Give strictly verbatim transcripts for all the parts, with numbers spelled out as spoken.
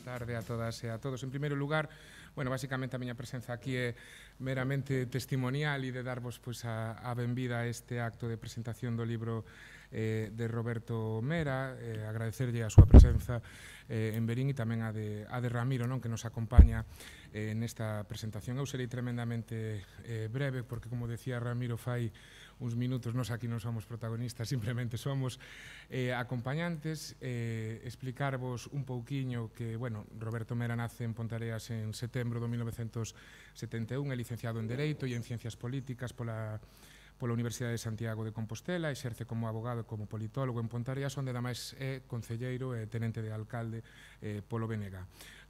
tarde a todas e a todos. En primeiro lugar, bueno, basicamente a miña presenza aquí é meramente testimonial e de darvos pois, a, a benvida a este acto de presentación do libro eh, de Roberto Mera, eh, agradecerlle a súa presenza eh, en Verín e tamén a de, a de Ramiro, non, que nos acompaña eh, nesta presentación. Eu serei tremendamente eh, breve, porque, como decía Ramiro fai uns minutos, nós aquí non somos protagonistas, simplemente somos eh, acompañantes, eh, explicarvos un pouquiño que, bueno, Roberto Mera nace en Pontareas en setembro de mil novecentos setenta e un, é licenciado en Dereito e en Ciencias Políticas pola pola Universidade de Santiago de Compostela, exerce como abogado e como politólogo en Pontareas, onde ademais é concelleiro e tenente de alcalde eh, polo B N G.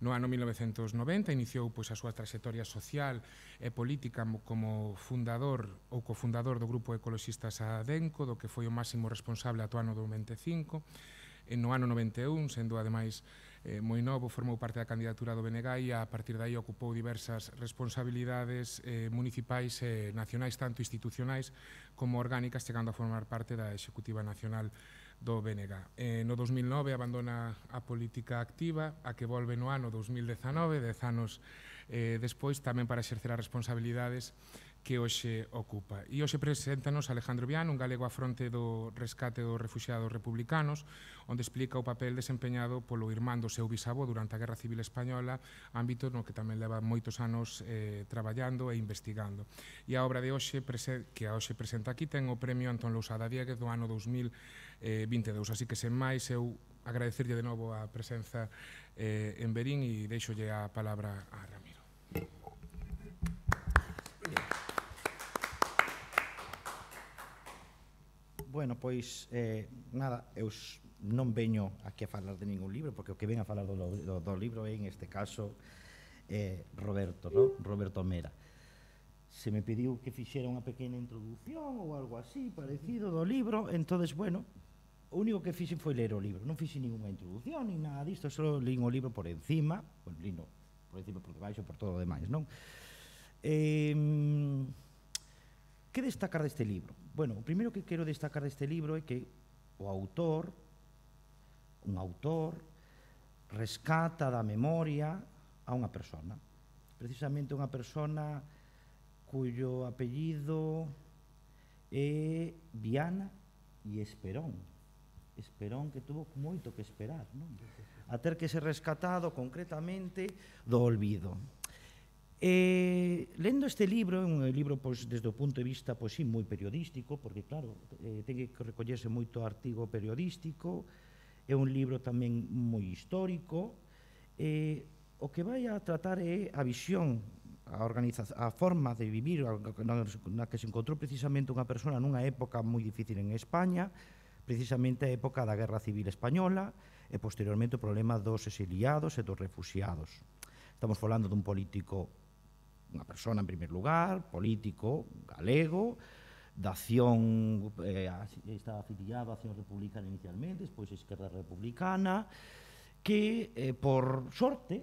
No ano mil novecentos noventa iniciou pois, a súa trayectoria social e política como fundador ou cofundador do grupo ecoloxistas Adenco, do que foi o máximo responsable ata o ano do noventa e cinco. E no ano noventa e un, sendo ademais eh, moi novo, formou parte da candidatura do B N G e a partir de aí ocupou diversas responsabilidades eh, municipais e nacionais, tanto institucionais como orgánicas, chegando a formar parte da Executiva Nacional do B N G. Eh, no dos mil nove abandona a política activa, a que volve no ano dos mil dezanove, dez anos eh, despois, tamén para exercer as responsabilidades que hoxe ocupa. E hoxe preséntanos Alejandro Viano, un galego á fronte do rescate dos refuxiados republicanos, onde explica o papel desempeñado polo irmán do seu bisavó durante a Guerra Civil Española, ámbito no que tamén leva moitos anos eh, traballando e investigando. E a obra de hoxe, que a hoxe presenta aquí, ten o premio Antón Lousada Dieguez do ano dos mil vinte e dous. Así que, sen máis, eu agradecerlle de novo a presenza eh, en Verín e deixolle a palabra a Ramiro. Bueno, pois, eh, nada, eu non veño aquí a falar de ningún libro, porque o que ven a falar do, do, do libro é, en este caso, eh, Roberto, no? Roberto Mera. Se me pediu que fixera unha pequena introducción ou algo así, parecido do libro, entonces, bueno, o único que fixen foi ler o libro. Non fixe ninguna introducción, ni nada disto, só lín o libro por encima, bueno, lino por encima, por debaixo, por todo o demais, non? Eh... Que destacar deste libro? Bueno, o primeiro que quero destacar deste libro é que o autor, un autor, rescata da memoria a unha persona. Precisamente unha persona cuyo apellido é Viana e Esperón. Esperón que tuvo moito que esperar, non? A ter que ser rescatado concretamente do olvido. Eh, lendo este libro, é un libro pois, desde o punto de vista pois, sí, moi periodístico, porque claro, eh, ten que recollerse moito artigo periodístico, é un libro tamén moi histórico, eh, o que vai a tratar é a visión, a, a forma de vivir na, na que se encontrou precisamente unha persona nunha época moi difícil en España, precisamente a época da Guerra Civil Española e posteriormente o problema dos exiliados e dos refuxiados. Estamos falando dun político, unha persona en primer lugar, político, galego, da acción, eh, está afiliado a Acción Republicana inicialmente, despois a Esquerda Republicana, que, eh, por sorte,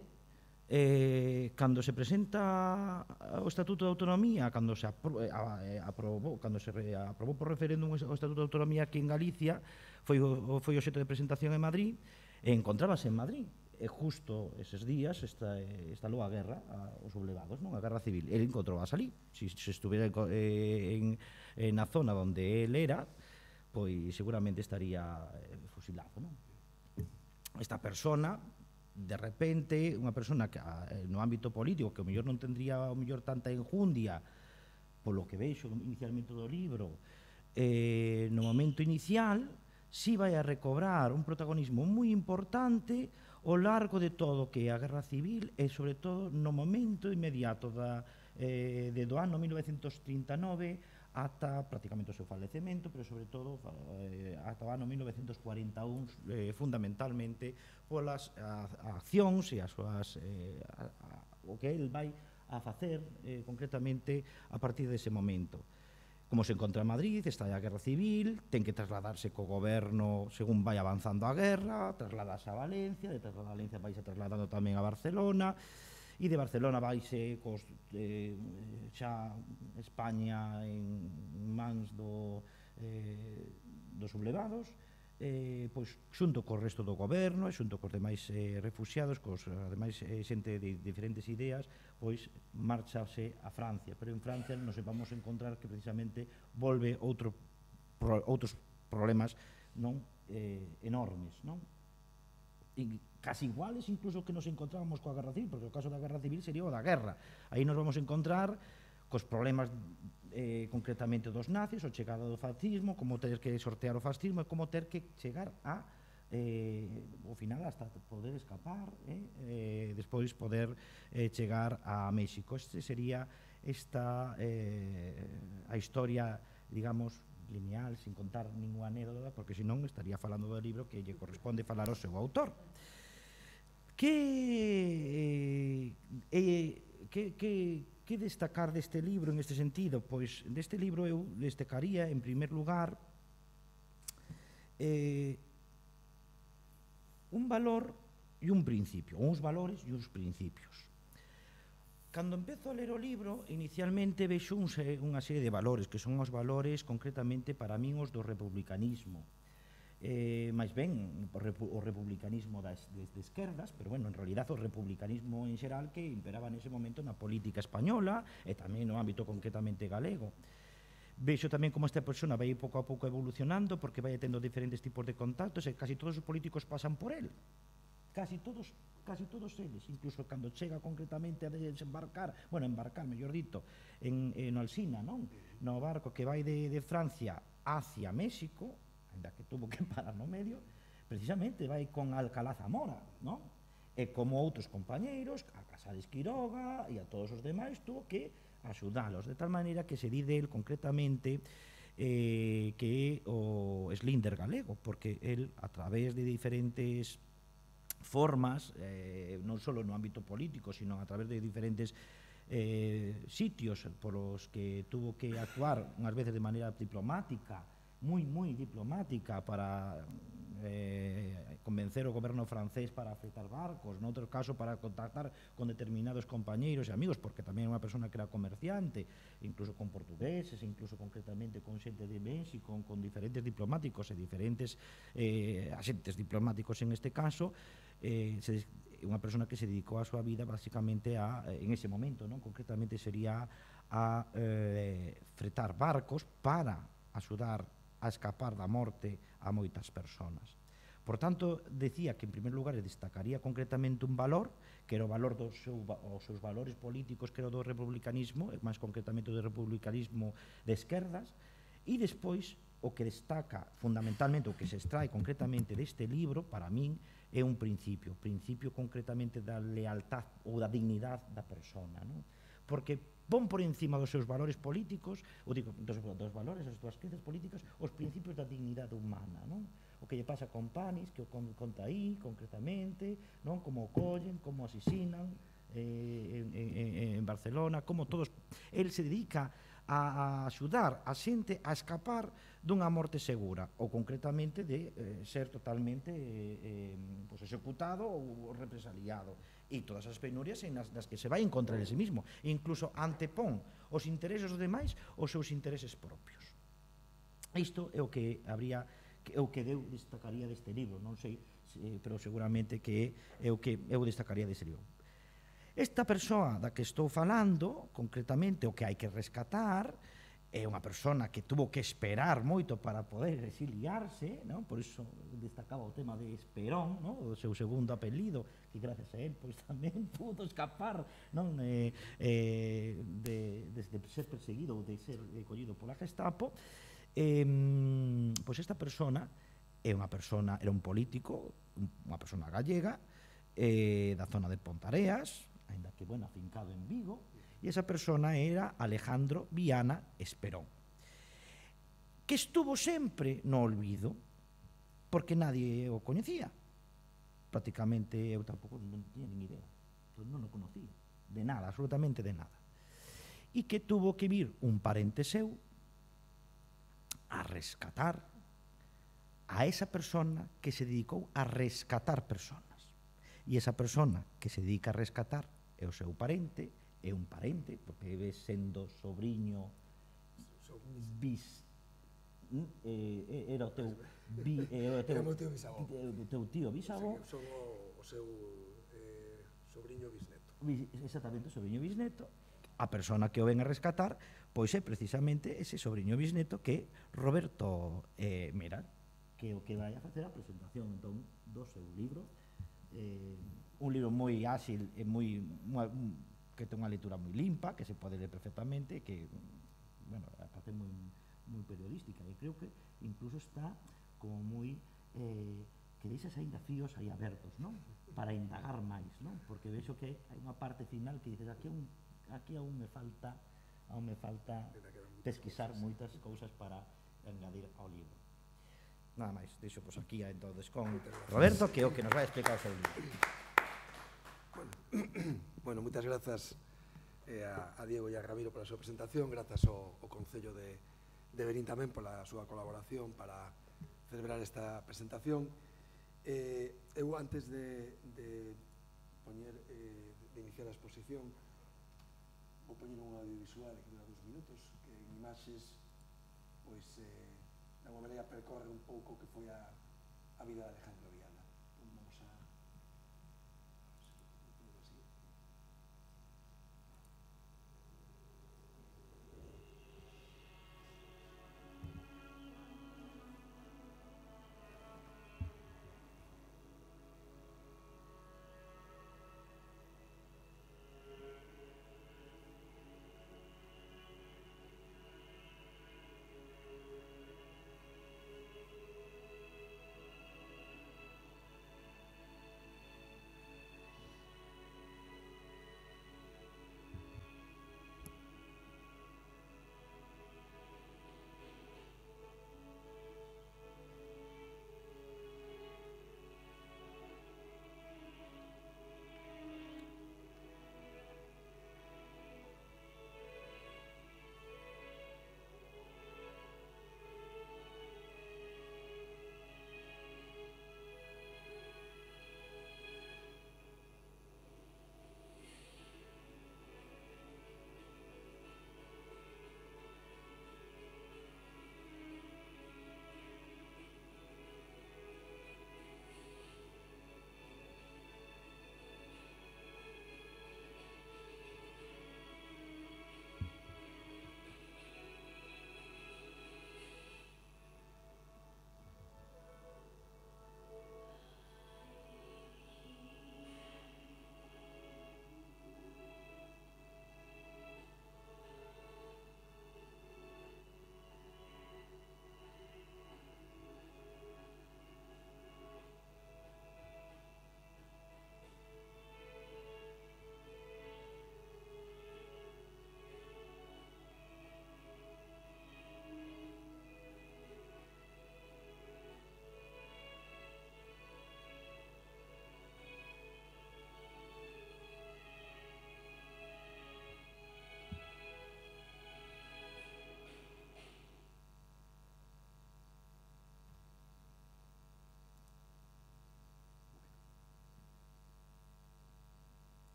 eh, cando se presenta o Estatuto de Autonomía, cando se apro, eh, aprobou, cando se re, aprobou por referéndum o Estatuto de Autonomía aquí en Galicia, foi o, foi o xeito de presentación en Madrid, e encontrábase en Madrid. E justo eses días está, estalou a guerra aos sublevados, non? A guerra civil. Ele encontrou a salir. Se, se estuviera eh, en, en na zona onde ele era, pois seguramente estaría eh, fusilado, non? Esta persona, de repente, unha persona que eh, no ámbito político, que o mellor non tendría o mellor tanta enjundia, polo que veixo inicialmente do libro, eh, no momento inicial, si vai a recobrar un protagonismo moi importante ao largo de todo que é a Guerra Civil e, sobre todo, no momento inmediato da, eh, de do ano mil novecentos trinta e nove ata prácticamente o seu falecemento, pero, sobre todo, eh, ata o ano mil novecentos cuarenta e un, eh, fundamentalmente polas a, a accións e as súas, eh, a, a, o que el vai a facer eh, concretamente a partir dese momento. Como se encontra en Madrid, está a Guerra Civil, ten que trasladarse co goberno según vai avanzando a guerra, trasladarse a Valencia, de Valencia vaise trasladando tamén a Barcelona, e de Barcelona vaise cos, eh, xa España en mans do, eh, dos sublevados, eh, pois, xunto co resto do goberno e xunto cos demais eh, refugiados, cos demais eh, xente de diferentes ideas, pois marchase a Francia, pero en Francia nos vamos a encontrar que precisamente volve outro, pro, outros problemas non eh, enormes, non? E casi iguales incluso que nos encontrábamos coa Guerra Civil, porque o caso da Guerra Civil sería o da guerra. Aí nos vamos a encontrar cos problemas eh, concretamente dos nazis, o chegada do fascismo, como ter que sortear o fascismo e como ter que chegar a eh, ao final hasta poder escapar eh, eh, despois poder eh, chegar a México. Este sería esta eh, a historia, digamos, lineal, sin contar ninguna anécdota, porque senón estaría falando do libro que lle corresponde falar ao seu autor. Que eh, que, que que destacar deste libro en este sentido? Pois deste libro eu destacaría en primer lugar eh, un valor e un principio, uns valores e uns principios. Cando empezo a ler o libro, inicialmente vexo un, unha serie de valores, que son os valores concretamente para min os do republicanismo. Eh, máis ben o republicanismo das, de, de esquerdas, pero bueno, en realidad o republicanismo en xeral que imperaba nese momento na política española e tamén no ámbito concretamente galego. Vexo tamén como esta persona vai pouco a pouco evolucionando porque vai tendo diferentes tipos de contactos e casi todos os políticos pasan por él. Casi todos, casi todos eles, incluso cando chega concretamente a desembarcar, bueno, embarcar, mellor dito, en, en Alsina, non? No barco que vai de, de Francia hacia México, ainda que tuvo que parar no medio, precisamente vai con Alcalá Zamora, non? E como outros compañeiros, a Casares Quiroga e a todos os demais, tuvo que axudalos, de tal maneira que se di del concretamente eh, que o Slinder galego, porque el, a través de diferentes formas, eh, non só no ámbito político, sino a través de diferentes eh, sitios polos que tuvo que actuar unhas veces de maneira diplomática, moi, moi diplomática para eh, convencer o goberno francés para afectar barcos, en outro caso para contactar con determinados compañeiros e amigos, porque tamén é unha persona que era comerciante, incluso con portugueses, incluso concretamente con xente de México, con diferentes diplomáticos e diferentes eh, axentes diplomáticos en este caso, eh, se, unha persona que se dedicou a súa vida basicamente a, en ese momento, non? Concretamente sería a eh, fretar barcos para axudar a escapar da morte a moitas persoas. Por tanto, decía que en primer lugar destacaría concretamente un valor, que era o valor dos seu, os seus valores políticos, que era o do republicanismo, e máis concretamente o do republicanismo de esquerdas, e despois o que destaca fundamentalmente, o que se extrae concretamente deste libro, para min, é un principio, principio concretamente da lealtad ou da dignidade da persona, non? Porque pon por encima dos seus valores políticos, ou digo, dos, dos valores, das súas creencias políticas, os principios da dignidade humana, non? O que lle pasa con Panis, que o conta aí, concretamente, non? Como o collen, como o asesinan eh, en, en, en Barcelona, como todos... El se dedica a, a axudar a xente a escapar dunha morte segura, ou concretamente de eh, ser totalmente eh, eh, pues executado ou represaliado. E todas as penurias en as, nas que se vai encontrar en sí mismo, e incluso antepón os intereses dos demais os seus intereses propios. Isto é o que habría, é o que eu destacaría deste libro, non sei, pero seguramente que é o que eu destacaría deste libro. Esta persoa da que estou falando, concretamente o que hai que rescatar, é unha persona que tuvo que esperar moito para poder exiliarse, non? Por iso destacaba o tema de Esperón, non? O seu segundo apelido, que gracias a él pois tamén pudo escapar, non? Eh, eh, de, de, de ser perseguido ou de ser eh, collido pola Gestapo. Eh, pois esta persona é unha persona, era un político, unha persona gallega, eh, da zona de Pontareas, ainda que, bueno, afincado en Vigo, e esa persona era Alejandro Viana Esperón, que estuvo sempre no olvido, porque nadie o coñecía. Prácticamente eu tampouco non tiña nin idea, non o conocía, de nada, absolutamente de nada. E que tuvo que vir un parente seu a rescatar a esa persona que se dedicou a rescatar personas. E esa persona que se dedica a rescatar é o seu parente, é un parente, porque ve sendo sobrinho bis, era o teu tío bisavó, son o seu sobrinho bisneto. Exactamente, o sobrinho bisneto. A persona que o ven a rescatar pois é precisamente ese sobrinho bisneto que Roberto Meral, que é o que vai a facer a presentación entón do seu libro, un libro moi áxil e moi que ten unha lectura moi limpa, que se pode ler perfectamente, que, bueno, a parte moi moi periodística, e creo que incluso está como moi que deixas aí fíos aí abertos, non? Para indagar máis, non? Porque vexo que hai unha parte final que dices aquí aquí aún me falta aún me falta pesquisar moitas cousas para engadir ao libro. Nada máis, deixo pues aquí entonces con Roberto, que é o que nos vai explicar o seu libro. Bueno, moitas grazas a Diego e a Ramiro pola súa presentación, grazas ao Concello de Verín tamén pola súa colaboración para celebrar esta presentación. Eu, antes de iniciar a exposición, vou poñer un audiovisual que dura dos minutos, que en imaxes, pois, de alguma maneira percorre un pouco o que foi a vida de Alejandro Viana. Vamos a...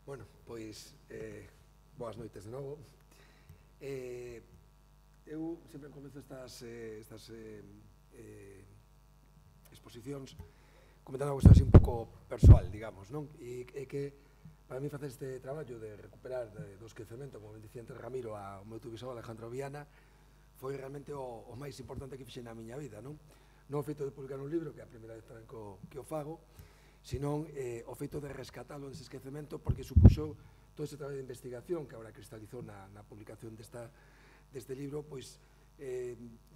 Bueno, pois, boas noites de novo. Eu sempre comezo estas exposicións comentando unha cuestión así un pouco persoal, digamos, non? E que para mí facer este traballo de recuperar do esquecemento, como ben dicía antes Ramiro, ao meu bisavó Alejandro Viana, foi realmente o máis importante que fixen na miña vida, non? Non o feito de publicar un libro, que é a primeira vez tamén que o fago, senón o feito de rescatalo dese esquecemento, porque supuxo todo ese traballo de investigación que agora cristalizou na publicación deste libro, pois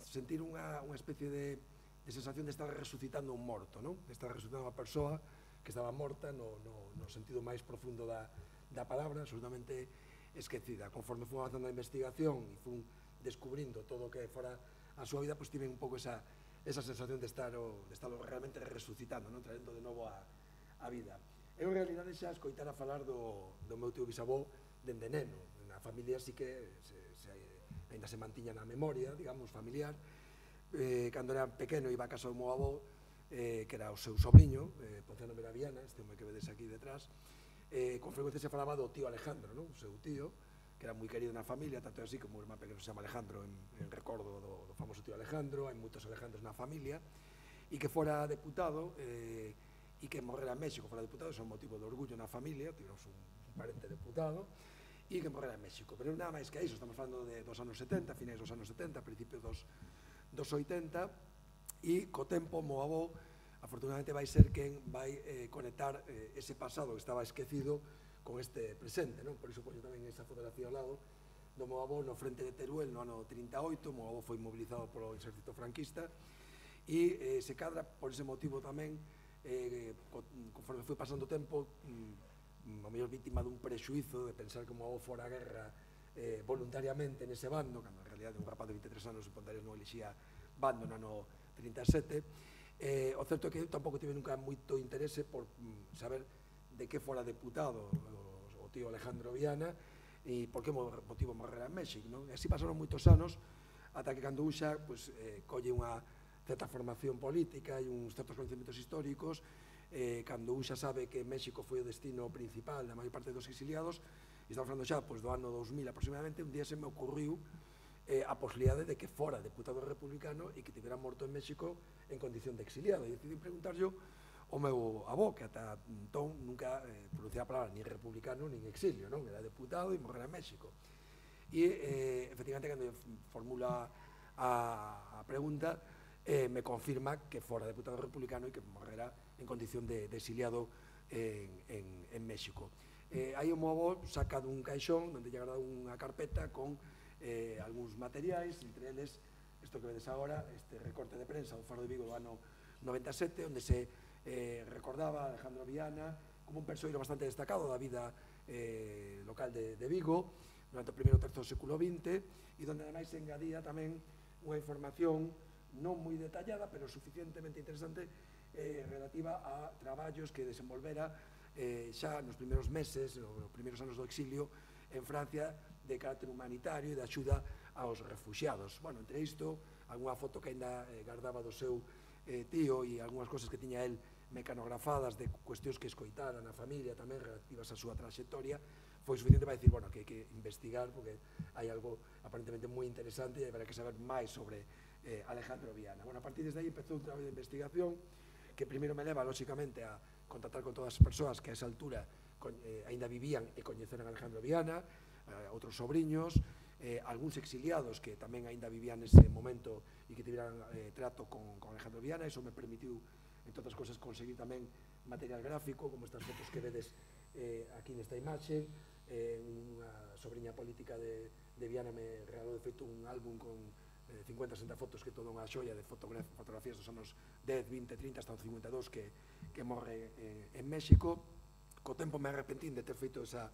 sentir unha especie de sensación de estar resucitando un morto, de estar resucitando unha persoa que estaba morta no sentido máis profundo da palabra, absolutamente esquecida. Conforme fui avanzando a investigación e fui descubrindo todo o que fora a súa vida, pois tive un pouco esa sensación de estar realmente resucitando, traendo de novo a vida. Eu, en realidade, xa escoitara falar do meu tío bisavó dende neno. Na familia sí que ainda se mantiña na memoria, digamos, familiar. Cando era pequeno iba a casa do meu avó, que era o seu sobrinho, Ponciano Meral Viana, este home que vedes aquí detrás. Con frecuencia se falaba do tío Alejandro, o seu tío, que era moi querido na familia, tanto así como o irmán pequeno se chama Alejandro en, en recordo do, do famoso tío Alejandro, hai moitos Alejandros na familia, e que fora deputado eh, e que morrera en México fora deputado, é un motivo de orgullo na familia, tivemos un, un parente deputado, e que morrera en México. Pero nada máis que iso, estamos falando de, dos anos setenta, finais dos anos setenta, principios dos, dos oitenta, e co tempo, mo avó, afortunadamente vai ser quen vai eh, conectar eh, ese pasado que estaba esquecido con este presente, non? Por iso poño tamén esa fotografía ao lado do meu avó no frente de Teruel no ano trinta e oito, meu avó foi mobilizado polo exército franquista e eh, se cadra por ese motivo tamén, eh, conforme foi pasando o tempo, mm, a mellor vítima dun prexuizo de pensar que o meu avó fora a guerra eh, voluntariamente nese bando, cando en realidad un rapaz de veintitrés anos en Ponteres non elixía bando no ano trinta e sete. Eh, o certo é que eu tampouco tive nunca moito interese por mm, saber de que fora deputado o, o tío Alejandro Viana e por que motivo morrera en México, non? E así pasaron moitos anos ata que cando un xa pues, eh, colle unha certa formación política e uns certos conhecimentos históricos, eh, cando un xa sabe que México foi o destino principal da maior parte dos exiliados, e estamos falando xa pues, do ano dos mil aproximadamente, un día se me ocurriu eh, a posibilidade de que fora deputado republicano e que tivera morto en México en condición de exiliado. E decidí preguntar yo ao meu avó, que ata entón nunca eh, pronunciaba a palabra ni republicano nin exilio, non? Era deputado e morrera en México. E, eh, efectivamente, cando formula a, a pregunta, eh, me confirma que fora deputado republicano e que morrera en condición de, de exiliado en, en, en México. Eh, aí o meu avó saca dun caixón onde lle guarda unha carpeta con eh, algúns materiais, entre eles isto que vedes agora, este recorte de prensa do Faro de Vigo do ano noventa e sete, onde se eh, recordaba a Alejandro Viana como un persoeiro bastante destacado da vida eh, local de, de Vigo durante o primeiro terzo do século vinte, e onde ademais se engadía tamén unha información non moi detallada, pero suficientemente interesante eh, relativa a traballos que desenvolvera eh, xa nos primeiros meses, nos primeiros anos do exilio en Francia, de carácter humanitario e de axuda aos refuxiados. Bueno, entre isto, algunha foto que ainda eh, guardaba do seu eh, tío e algunhas cosas que tiña el mecanografadas de cuestións que escoitara na familia tamén relativas á súa trayectoria, foi suficiente para dicir, bueno, que hai que investigar porque hai algo aparentemente moi interesante e habrá que saber máis sobre eh, Alejandro Viana. Bueno, a partir desde aí empezou un traballo de investigación que primeiro me leva, lóxicamente, a contactar con todas as persoas que a esa altura eh, ainda vivían e coñeceran a Alejandro Viana, eh, outros sobriños, eh, algúns exiliados que tamén ainda vivían nese momento e que tiveran eh, trato con, con Alejandro Viana. Iso me permitiu, entre outras cosas, conseguir tamén material gráfico, como estas fotos que vedes eh, aquí nesta imaxe. Eh, unha sobrinha política de, de Viana me regalou de feito un álbum con eh, cincuenta a sesenta fotos, que toda unha xoia de fotografías dos anos dez, vinte, trinta, hasta o cincuenta e dous que, que morre eh, en México. Co tempo me arrepentín de ter feito esa,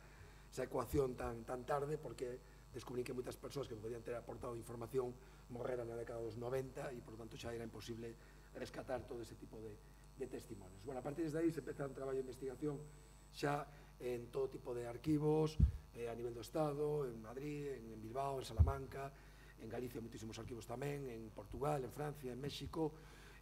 esa ecuación tan, tan tarde, porque descubrí que moitas persoas que podían ter aportado información morreran na década dos noventa e, por lo tanto, xa era imposible rescatar todo ese tipo de, de testimonios. Bueno, a partir de aí se empeza un traballo de investigación xa en todo tipo de arquivos, eh, a nivel do Estado, en Madrid, en Bilbao, en Salamanca, en Galicia moitísimos arquivos tamén, en Portugal, en Francia, en México,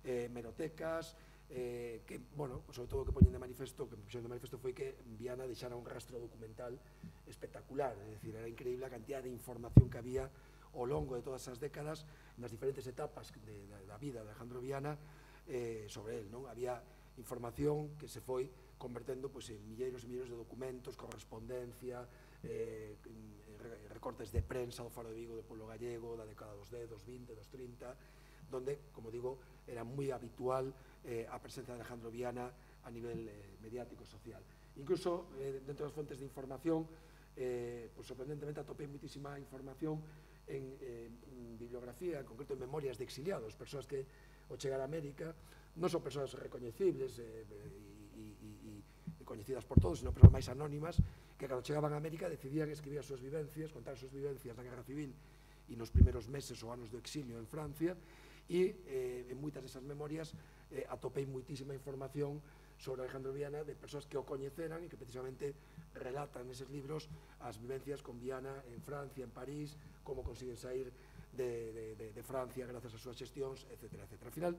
eh, merotecas, eh, que, bueno, sobre todo o que poñen de manifesto, que poñen de manifesto foi que Viana deixara un rastro documental espectacular, é dicir, era increíble a cantidad de información que había ao longo de todas as décadas nas diferentes etapas de, de, da vida de Alejandro Viana eh, sobre él, non? Había información que se foi convertendo pues, en milleiros e milleiros de documentos, correspondencia, eh, recortes de prensa do Faro de Vigo, do pueblo gallego, da década dos dez, dos vinte, dos trinta, donde, como digo, era moi habitual eh, a presencia de Alejandro Viana a nivel eh, mediático social. Incluso, eh, dentro das fontes de información, eh, pues, sorprendentemente atopei muitísima información en, eh, en bibliografía, en concreto en memorias de exiliados, persoas que ao chegar a América non son persoas recoñecibles eh, e coñecidas por todos, sino persoas máis anónimas que cando chegaban a América decidían escribir as súas vivencias, contar as súas vivencias na Guerra Civil e nos primeiros meses ou anos do exilio en Francia, e eh, en moitas desas memorias eh, atopei moitísima información sobre Alejandro Viana de persoas que o coñeceran e que precisamente relatan neses libros as vivencias con Viana en Francia, en París, como consiguen sair de, de, de, de Francia grazas ás súas xestións, etcétera, etcétera. Al final,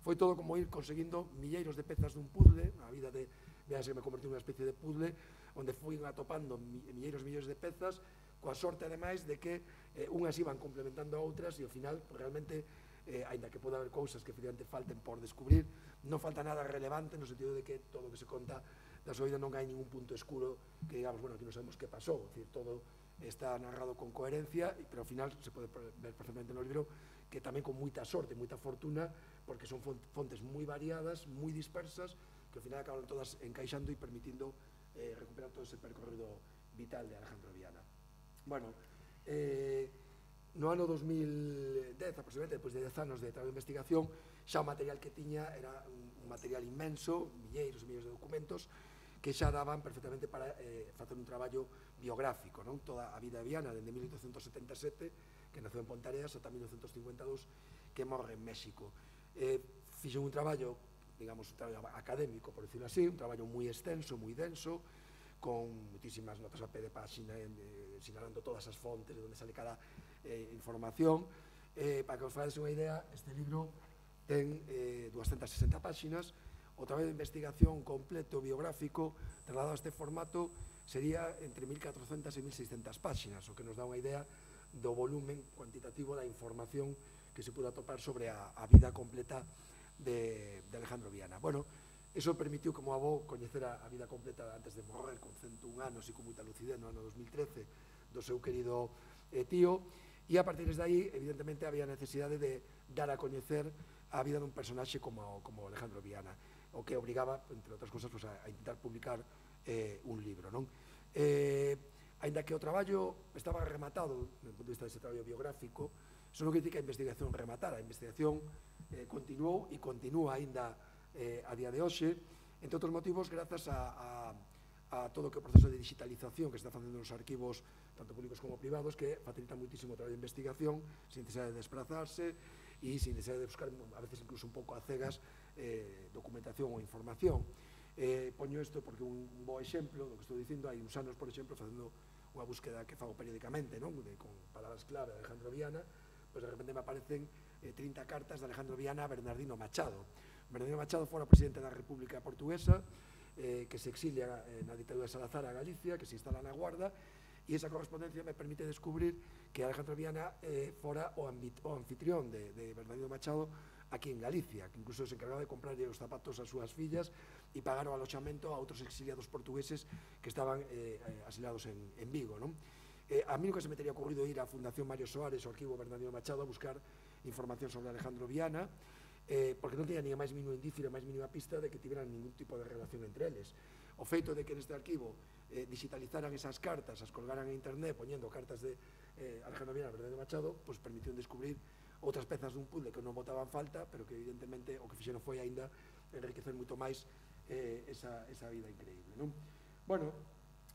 foi todo como ir conseguindo milleiros de pezas dun puzzle, a vida de Viana se me convertiu nunha especie de puzzle, onde fui atopando milleiros milleiros de pezas, coa sorte, ademais, de que eh, unhas iban complementando a outras e, ao final, pues, realmente, eh, aínda que pode haber cousas que efectivamente falten por descubrir, non falta nada relevante no sentido de que todo o que se conta da súa vida non hai ningún punto escuro que digamos, bueno, aquí non sabemos que pasou, é dicir, todo está narrado con coherencia, pero ao final se pode ver perfectamente no libro que tamén con moita sorte, moita fortuna, porque son fontes moi variadas, moi dispersas, que ao final acaban todas encaixando e permitindo eh, recuperar todo ese percorrido vital de Alejandro Viana. Bueno, eh, no ano dos mil dez, aproximadamente, depois de dez anos de traballo de investigación, xa o material que tiña era un material inmenso, milleiros e milleiros de documentos, que xa daban perfectamente para eh, facer un traballo biográfico, non? Toda a vida de Viana, dende mil oitocentos setenta e sete, que naceu en Pontareas, ata mil novecentos cincuenta e dous, que morre en México. Eh, fixo un traballo, digamos, un traballo académico, por decirlo así, un traballo moi extenso, moi denso, con muitísimas notas a pé de páxina, eh, sinalando todas as fontes de onde sale cada eh, información. Eh, para que os faades unha idea, este libro ten eh, doscientas sesenta páxinas. O traballo de investigación completo, biográfico, trasladado a este formato, sería entre mil catrocentas e mil seiscentas páxinas, o que nos dá unha idea do volumen cuantitativo da información que se pudo atopar sobre a, a vida completa de, de Alejandro Viana. Bueno, eso permitiu, como avó, coñecer a, a vida completa antes de morrer, con cento un anos e con moita lucidez no ano dos mil trece, do seu querido eh, tío, e a partir de aí, evidentemente, había necesidade de dar a coñecer a vida dun personaxe como, como Alejandro Viana, o que obrigaba, entre outras cousas, pues, a, a intentar publicar eh, un libro, non? Eh, aínda que o traballo estaba rematado, desde o punto de vista dese traballo biográfico, eso non quer dizer que a investigación rematara, a investigación eh, continuou e continúa aínda eh, a día de hoxe, entre outros motivos, grazas a, a, a todo o que o proceso de digitalización que se está facendo nos arquivos, tanto públicos como privados, que facilita muitísimo o traballo de investigación, sin necesidade de desplazarse e sin necesidade de buscar, a veces incluso un pouco a cegas, eh, documentación ou información. Eh, poño isto porque un bo exemplo do que estou dicindo, hai uns anos, por exemplo, facendo unha búsqueda que fago periódicamente, non? De, con palabras clave de Alejandro Viana, pois de repente me aparecen eh, trinta cartas de Alejandro Viana a Bernardino Machado. Bernardino Machado fora presidente da República Portuguesa, eh, que se exilia eh, na ditadura de Salazar a Galicia, que se instala na Guarda, e esa correspondencia me permite descubrir que Alejandro Viana eh, fora o, o anfitrión de, de Bernardino Machado aquí en Galicia, que incluso se encargaba de comprarle os zapatos ás súas fillas e pagar o aloxamento a outros exiliados portugueses que estaban eh, asilados en, en Vigo, non? Eh, a mí nunca se me teria ocurrido ir á Fundación Mario Soares ou arquivo Bernardino Machado a buscar información sobre Alejandro Viana, eh, porque non teña ni a máis mínimo indicio, ni a máis mínima pista de que tiveran ningún tipo de relación entre eles. O feito de que neste arquivo eh, digitalizaran esas cartas, as colgaran en internet poñendo cartas de eh, Alejandro Viana e Bernardino Machado, pois permitiu descubrir outras pezas dun puzzle que non botaban falta, pero que evidentemente o que fixeron foi aínda enriquecer moito máis eh, esa, esa vida increíble, non? Bueno,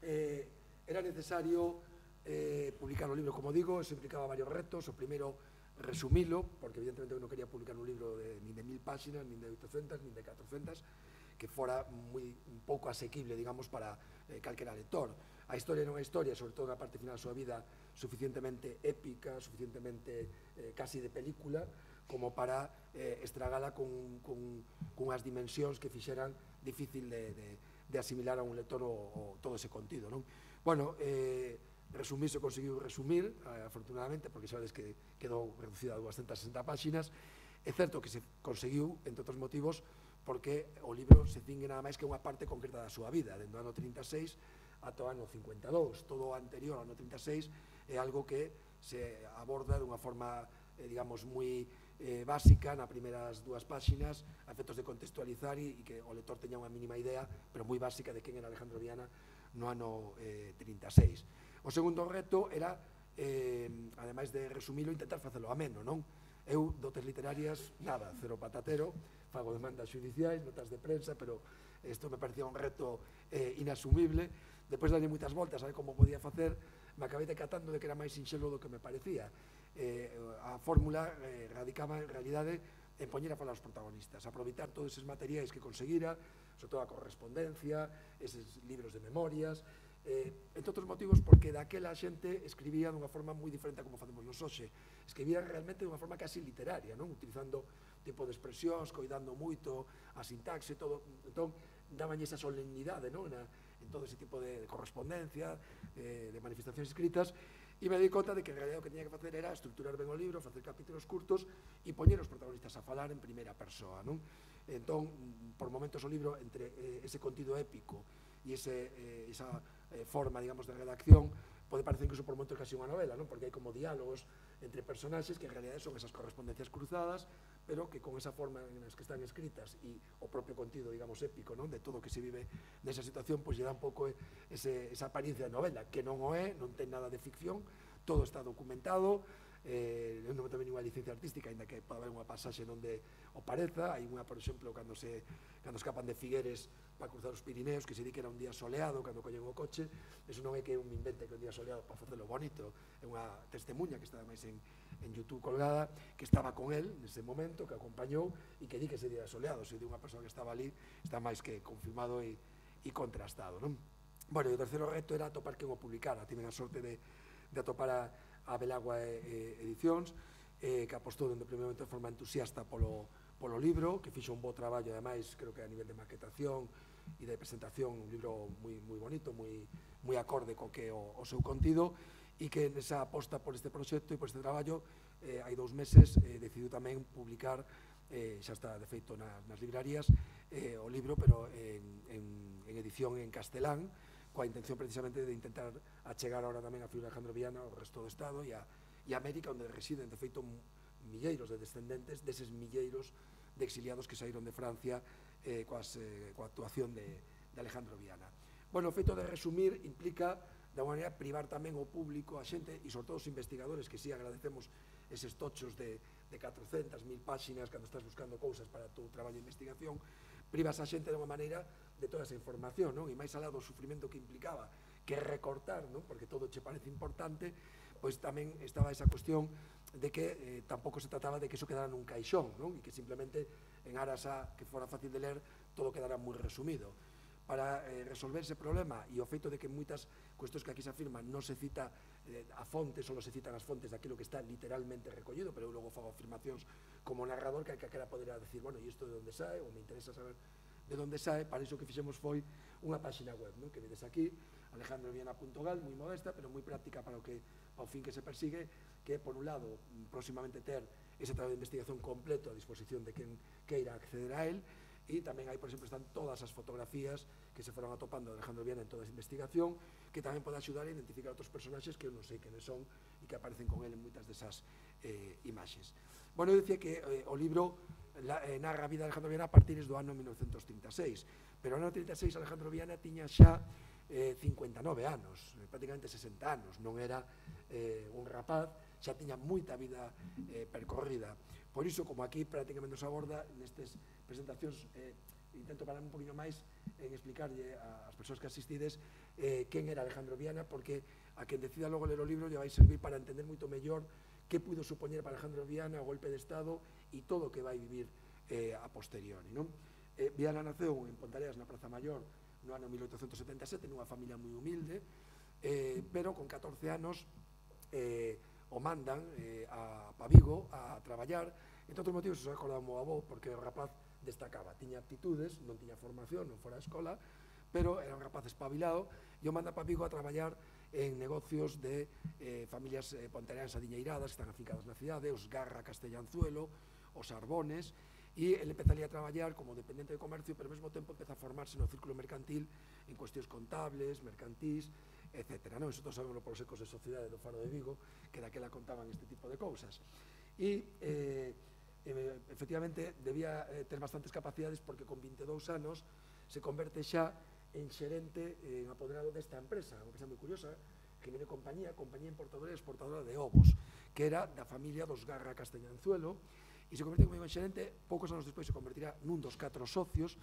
eh, era necesario eh, publicar o libro, como digo, eso implicaba varios retos. O primeiro, resumilo, porque evidentemente eu non quería publicar un libro de, nin de mil páxinas, nin de oitocentas, nin de catrocentas, que fora moi un pouco asequible, digamos, para eh, calquera lector. A historia non é historia, sobre todo na parte final da súa vida, suficientemente épica, suficientemente eh, casi de película, como para eh, estragala con, con, con unhas dimensións que fixeran difícil de, de, de asimilar a un lector o, o todo ese contido, non? Bueno, eh, resumir se conseguiu resumir, eh, afortunadamente, porque sabes que quedou reducida a doscientas sesenta páxinas. É certo que se conseguiu, entre outros motivos, porque o libro se cingue nada máis que unha parte concreta da súa vida, dentro do ano trinta e seis ata o ano cincuenta e dous. Todo o anterior ao ano trinta e seis é algo que se aborda dunha forma, eh, digamos, moi eh, básica nas primeiras dúas páxinas, a efectos de contextualizar e, e que o lector teña unha mínima idea, pero moi básica, de quen era Alejandro Viana no ano eh, trinta e seis. O segundo reto era, eh, ademais de resumilo, intentar facelo ameno, non? Eu, dotes literarias, nada, cero patatero, fago demandas judiciais, notas de prensa, pero isto me parecía un reto eh, inasumible. Depois de darlle moitas voltas a ver como podía facer, me acabei decatando de que era máis sinxelo do que me parecía. Eh, a fórmula eh, radicaba en realidade en poñer a falar os protagonistas, aproveitar todos eses materiais que conseguira, sobre todo a correspondencia, eses libros de memorias, eh, entre outros motivos porque daquela xente escribía dunha forma moi diferente a como facemos nos hoxe. Escribía realmente dunha forma casi literaria, non? Utilizando tipo de expresións, coidando moito a sintaxe, todo. Entón, daban esa solemnidade, non? Na, en todo ese tipo de, de correspondencia, eh, de manifestacións escritas, E me di conta de que en realidad o que tiña que facer era estruturar ben o libro, facer capítulos curtos e poñer os protagonistas a falar en primeira persoa, non? Entón, por momentos o libro, entre eh, ese contido épico e ese, eh, esa eh, forma, digamos, de redacción, pode parecer incluso por momentos casi unha novela, non? Porque hai como diálogos entre personaxes que en realidad son esas correspondencias cruzadas, pero que con esa forma en as que están escritas e o propio contido, digamos, épico, non? De todo o que se vive nesa situación, pois lle dá un pouco ese, esa apariencia de novela, que non o é, non ten nada de ficción, todo está documentado, eh, non ten ninguna licencia artística, ainda que pode haber unha pasaxe onde o pareza. Hai unha, por exemplo, cando se cando escapan de Figueres para cruzar os Pirineos, que se di que era un día soleado cando collen o coche. Eso non é que un invente que un día soleado para facelo bonito, é unha testemunha que está ademais en, en YouTube colgada, que estaba con él nese momento, que acompañou e que di que ese día soleado, se di unha persoa que estaba ali, está máis que confirmado e, e contrastado, non? Bueno, e o terceiro reto era atopar quen o publicara. Tiven a sorte de, de atopar a a Belagua Edicións, eh, que apostou dende o primeiro momento de forma entusiasta polo, polo libro, que fixo un bo traballo, ademais, creo que a nivel de maquetación e de presentación, un libro moi, moi bonito, moi, moi acorde co que o, o seu contido, e que nesa aposta por este proxecto e por este traballo, eh, hai dous meses, eh, decidiu tamén publicar, eh, xa está de feito nas, nas librarías, eh, o libro, pero en, en, en edición en castelán, coa intención precisamente de intentar achegar ahora tamén a figura de Alejandro Viana ao resto do Estado e a, e a América, onde residen, de feito, milleiros de descendentes deses milleiros de exiliados que saíron de Francia eh, coas, eh, coa actuación de, de Alejandro Viana. Bueno, o feito de resumir implica, de alguma maneira, privar tamén o público, a xente, e sobre todo os investigadores, que sí agradecemos eses tochos de, de catrocentas mil páxinas cando estás buscando cousas para o teu traballo de investigación, privas a xente de unha maneira de toda esa información, non? E máis alá do sufrimento que implicaba, que recortar, non? Porque todo che parece importante, pois tamén estaba esa cuestión de que eh, tampouco se trataba de que iso quedara nun caixón, non? E que simplemente en aras a que fora fácil de ler, todo quedara moi resumido. Para eh, resolver ese problema e o feito de que moitas cuestións que aquí se afirman non se cita eh, a fontes, só se citan as fontes daquilo que está literalmente recollido, pero eu logo fago afirmacións como narrador que calquera poderá decir, bueno, e isto de onde sae, ou me interesa saber de onde sae. Para iso que fixemos foi unha páxina web, non? Que vedes aquí, alejandro viana punto gal, moi modesta, pero moi práctica para o que ao fin que se persigue, que por un lado, próximamente ter ese traballo de investigación completo a disposición de quen queira acceder a él, e tamén aí, por exemplo, están todas as fotografías que se foron atopando de Alejandro Viana en toda esa investigación, que tamén pode axudar a identificar outros personaxes que eu non sei quenes son e que aparecen con ele en moitas desas eh, imaxes. Bueno, eu dicía que eh, o libro la, eh, narra a vida de Alejandro Viana a partir do ano mil novecentos trinta e seis, pero no ano trinta e seis Alejandro Viana tiña xa eh, cincuenta e nove anos, eh, prácticamente sesenta anos, non era eh, un rapaz, xa tiña moita vida eh, percorrida. Por iso, como aquí prácticamente nos aborda nestes presentacións, eh, intento parar un poquinho máis en explicarlle ás persoas que asistides eh, quen era Alejandro Viana, porque a quen decida logo ler o libro lle vai servir para entender moito mellor que puido supoñer para Alejandro Viana o golpe de Estado e todo o que vai vivir eh, a posteriori, non? Eh, Viana naceu en Pontareas, na Praza Maior, no ano mil oitocentos setenta e sete, nunha familia moi humilde, eh, pero con catorce anos eh, o mandan eh, a Pavigo a traballar. Entre outros motivos, se acordaba o avó, porque o rapaz destacaba, tiña aptitudes, non tiña formación, non fora a escola, pero era un rapaz espabilado, e o manda a Pavigo a traballar en negocios de eh, familias eh, pontereanas adiñeiradas que están afincadas na cidade, os Garra Castellanzuelo, os Arbones, e ele empeza ali a traballar como dependente de comercio, pero ao mesmo tempo empeza a formarse no círculo mercantil en cuestións contables, mercantís, etcétera. Non? Eso todos sabemos polos ecos de sociedade do Faro de Vigo, que daquela contaban este tipo de cousas. E, eh, eh, efectivamente, debía eh, ter bastantes capacidades, porque con vinte e dous anos se converte xa en xerente, en apoderado desta empresa, unha empresa moi curiosa, que viene compañía, compañía importadora e exportadora de ovos, que era da familia dos Garra Castellanzuelo, e se converte como xerente. Poucos anos despois se convertirá nun dos catro socios,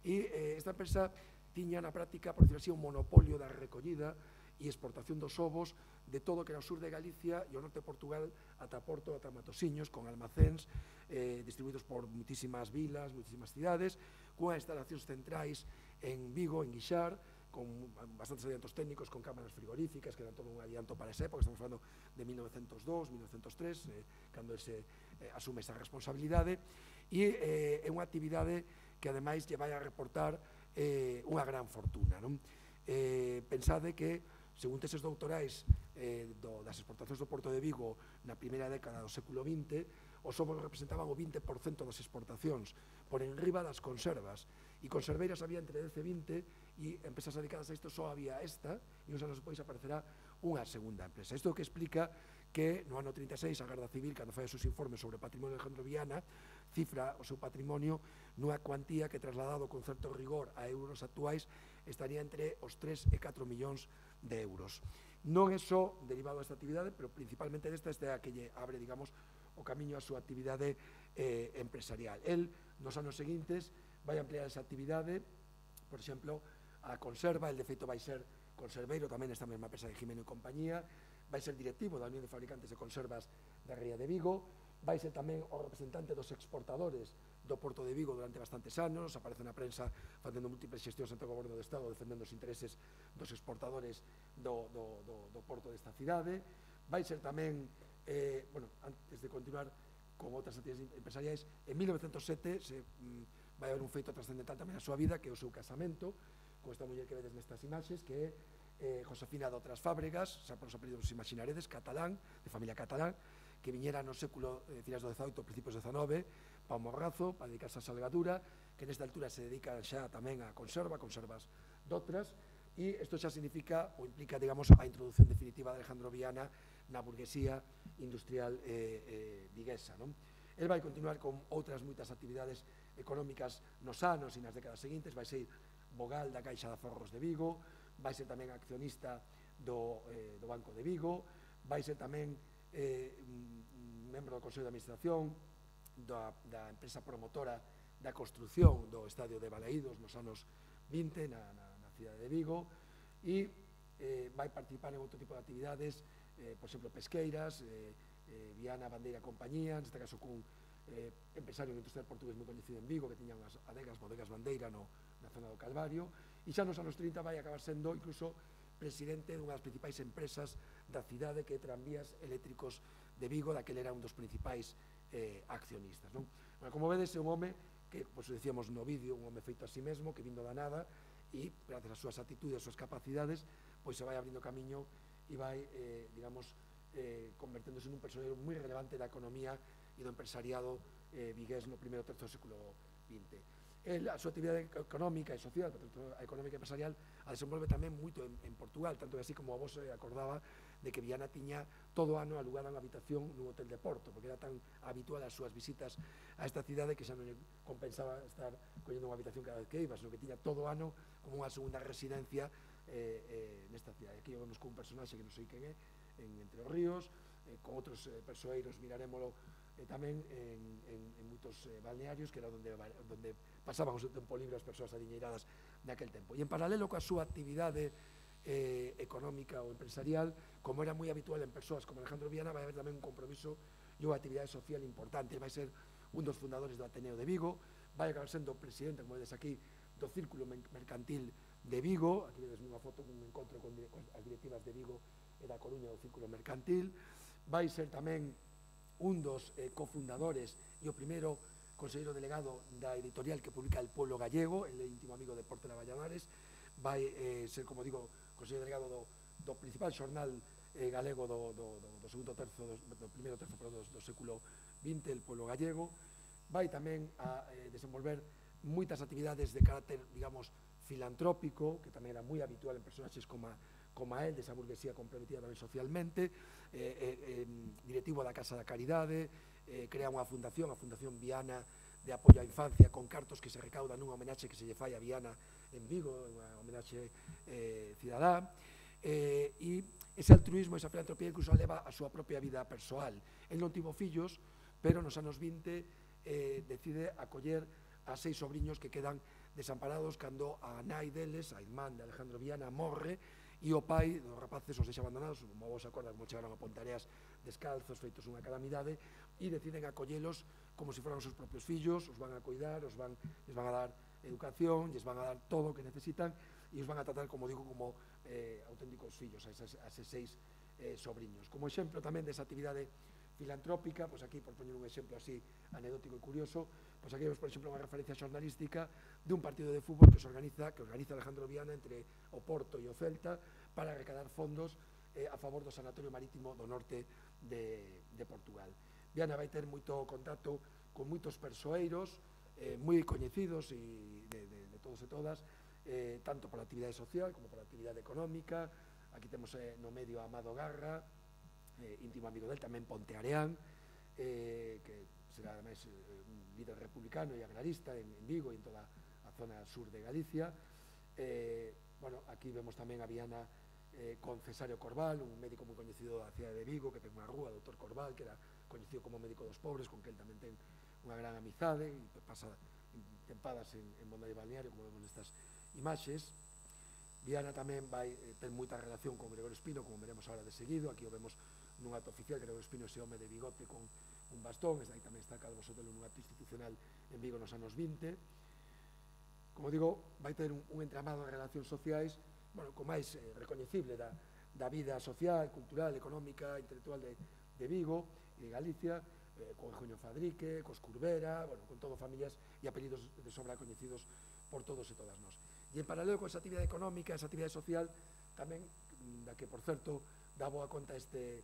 e eh, esta empresa tiña na práctica, por decirlo así, un monopolio da recollida e exportación dos ovos de todo o que era o sur de Galicia e o norte de Portugal ata Porto, ata Matosiños, con almacéns eh, distribuídos por muitísimas vilas, muitísimas cidades, cunha instalacións centrais en Vigo, en Guixar, con bastantes adiantos técnicos, con cámaras frigoríficas, que eran todo un adianto para esa época. Estamos falando de mil novecentos dous, mil novecentos tres, eh, cando se eh, asume esa responsabilidade, e eh, é unha actividade que ademais lle vai a reportar eh, unha gran fortuna, non? Eh, pensade que, según teses doutorais eh, do, das exportacións do Porto de Vigo na primeira década do século vinte, os ovos representaban o vinte por cento das exportacións, por enriba das conservas, e conserveiras había entre dez e vinte, e empresas dedicadas a isto só había esta, e uns anos depois aparecerá unha segunda empresa. Isto que explica que no ano trinta e seis a Garda Civil, cando fai os seus informes sobre o patrimonio de Alejandro Viana, cifra o seu patrimonio nunha cuantía que, trasladado con certo rigor a euros actuais, estaría entre os tres e catro millóns de euros. Non é só derivado desta actividade, pero principalmente desta, esta é a que lle abre, digamos, o camiño a súa actividade eh, empresarial. El, nos anos seguintes, vai ampliar esa actividade, por exemplo, a conserva, el de feito vai ser conserveiro tamén nesta mesma empresa de Jimeno e compañía, vai ser directivo da Unión de Fabricantes de Conservas da Ría de Vigo, vai ser tamén o representante dos exportadores do Porto de Vigo durante bastantes anos, aparece na prensa facendo múltiples xestións ante o Goberno do Estado defendendo os intereses dos exportadores do, do, do, do Porto desta cidade, vai ser tamén, eh, bueno, antes de continuar con outras actividades empresariais, en mil novecentos sete se, mm, vai haber un feito trascendental tamén na súa vida, que é o seu casamento con esta muller que vedes nestas imaxes, que é eh, Josefina de Outras Fábregas, xa por os apelidos vos imaginaredes, catalán, de familia catalán, que viñera no século eh, finais do dezaoito, principios do dezanove, pa o Morrazo, para dedicarse a salgadura, que nesta altura se dedica xa tamén a conserva, conservas doutras, e isto xa significa ou implica, digamos, a introducción definitiva de Alejandro Viana na burguesía industrial eh, eh, viguesa, non? El vai continuar con outras moitas actividades económicas nos anos e nas décadas seguintes, vai ser vogal da Caixa de Aforros de Vigo, vai ser tamén accionista do, eh, do Banco de Vigo, vai ser tamén eh, membro do Consello de Administración da, da empresa promotora da construción do Estadio de Balaídos nos anos vinte na, na, na cidade de Vigo, e eh, vai participar en outro tipo de actividades, eh, por exemplo, pesqueiras, eh, eh, Viana Bandeira Compañía, neste caso cun eh, empresario industrial portugués moi coñecido en Vigo, que tiña unhas adegas, bodegas Bandeira no, na zona do Calvario, e xa nos anos trinta vai acabar sendo incluso presidente dunha das principais empresas da cidade, que é Tranvías Eléctricos de Vigo, daquele era un dos principais eh, accionistas, non? Bueno, como vedes, é un home que, pois, decíamos no vídeo, un home feito a sí mesmo, que vindo da nada, e, gracias ás súas actitudes, ás súas capacidades, pois se vai abrindo camiño e vai, eh, digamos, eh, converténdose nun personaxe moi relevante da economía e do empresariado eh, vigués no primeiro terzo do século vinte. El, a súa actividade económica e social, a económica e empresarial, a desenvolve tamén moito en, en Portugal, tanto que así como a vos se acordaba de que Viana tiña todo ano alugada unha habitación nun hotel de Porto, porque era tan habitual as súas visitas a esta cidade que xa non compensaba estar collendo unha habitación cada vez que iba, sino que tiña todo ano como unha segunda residencia eh, eh, nesta cidade. Aquí vemos con un personaxe que non sei quen é, en Entre os Ríos, eh, con outros eh, persoeiros, mirarémolo eh, tamén en, en, en moitos eh, balnearios, que era onde, onde pasaban o seu tempo libre as persoas adiñeiradas naquel tempo. E en paralelo coa súa actividade eh, económica ou empresarial, como era moi habitual en persoas como Alejandro Viana, vai haber tamén un compromiso e unha actividade social importante. Vai ser un dos fundadores do Ateneo de Vigo, vai acabar sendo presidente, como vedes aquí, do Círculo Mercantil de Vigo. Aquí vedes unha foto cun encontro con, con as directivas de Vigo e da Coruña do Círculo Mercantil. Vai ser tamén un dos eh, cofundadores e o primeiro conselleiro delegado da editorial que publica El Pueblo Gallego, el íntimo amigo de Portela Valladares. Vai eh, ser, como digo, conselleiro delegado do, do principal xornal eh, galego do, do, do, do segundo terzo, do, do primeiro terzo perdón, do, do século vinte, El Pueblo Gallego. Vai tamén a eh, desenvolver moitas actividades de carácter, digamos, filantrópico, que tamén era moi habitual en personaxes como a, como a él, desa burguesía comprometida tamén socialmente, eh, eh, directivo da Casa da Caridade, eh, crea unha fundación, a Fundación Viana de Apoio á Infancia, con cartos que se recaudan nunha homenaxe que se lle fai a Viana en Vigo, unha homenaxe eh, cidadá, eh, e ese altruismo, esa filantropía incluso leva a súa propia vida persoal. El non tivo fillos, pero nos anos vinte eh, decide acoller a seis sobriños que quedan desamparados cando a nai deles, a irmán de Alejandro Viana, morre, e o pai dos rapaces os deixa abandonados, como vos acordan, como chegaron a Pontareas descalzos, feitos unha calamidade, e deciden acollelos como se foran os seus propios fillos, os van a cuidar, os van, les van a dar educación, les van a dar todo o que necesitan, e os van a tratar, como digo, como eh, auténticos fillos, a eses, a eses seis eh, sobriños. Como exemplo tamén desa actividade filantrópica, pois aquí, por poñer un exemplo así anecdótico e curioso, pois aquí vemos, por exemplo, unha referencia xornalística dun partido de fútbol que se organiza, que organiza Alejandro Viana entre o Porto e o Celta para recadar fondos eh, a favor do Sanatorio Marítimo do norte de, de Portugal. Viana vai ter moito contacto con moitos persoeiros eh, moi coñecidos e de, de, de todos e todas, eh, tanto pola actividade social como pola actividade económica. Aquí temos eh, no medio a Amado Garra, eh, íntimo amigo del, tamén Ponteareán, eh, que será ademais eh, un líder republicano e agrarista en, en Vigo e en toda a zona sur de Galicia. Eh, bueno, aquí vemos tamén a Viana eh, con Cesario Corbal, un médico moi coñecido da cidade de Vigo, que ten unha rúa, doutor Corbal, que era coñecido como médico dos pobres, con que el tamén ten unha gran amizade e pasa tempadas en, en Monda de Balneario, como vemos nestas imaxes. Viana tamén vai eh, ten moita relación con Gregorio Espino, como veremos ahora de seguido. Aquí o vemos nun acto oficial, Gregorio Espino, ese home de bigote con un bastón, aí tamén está Calvo Sotelo nun acto institucional en Vigo nos anos vinte. Como digo, vai ter un, un entramado de relacións sociais, bueno, co máis eh, recoñecible da, da vida social, cultural, económica, intelectual de, de Vigo e de Galicia, eh, con Eugenio Fadrique, cos Curbera, bueno, con todo familias e apelidos de sobra coñecidos por todos e todas nós. E en paralelo con esa actividade económica, esa actividade social, tamén, da que, por certo, dá boa conta este,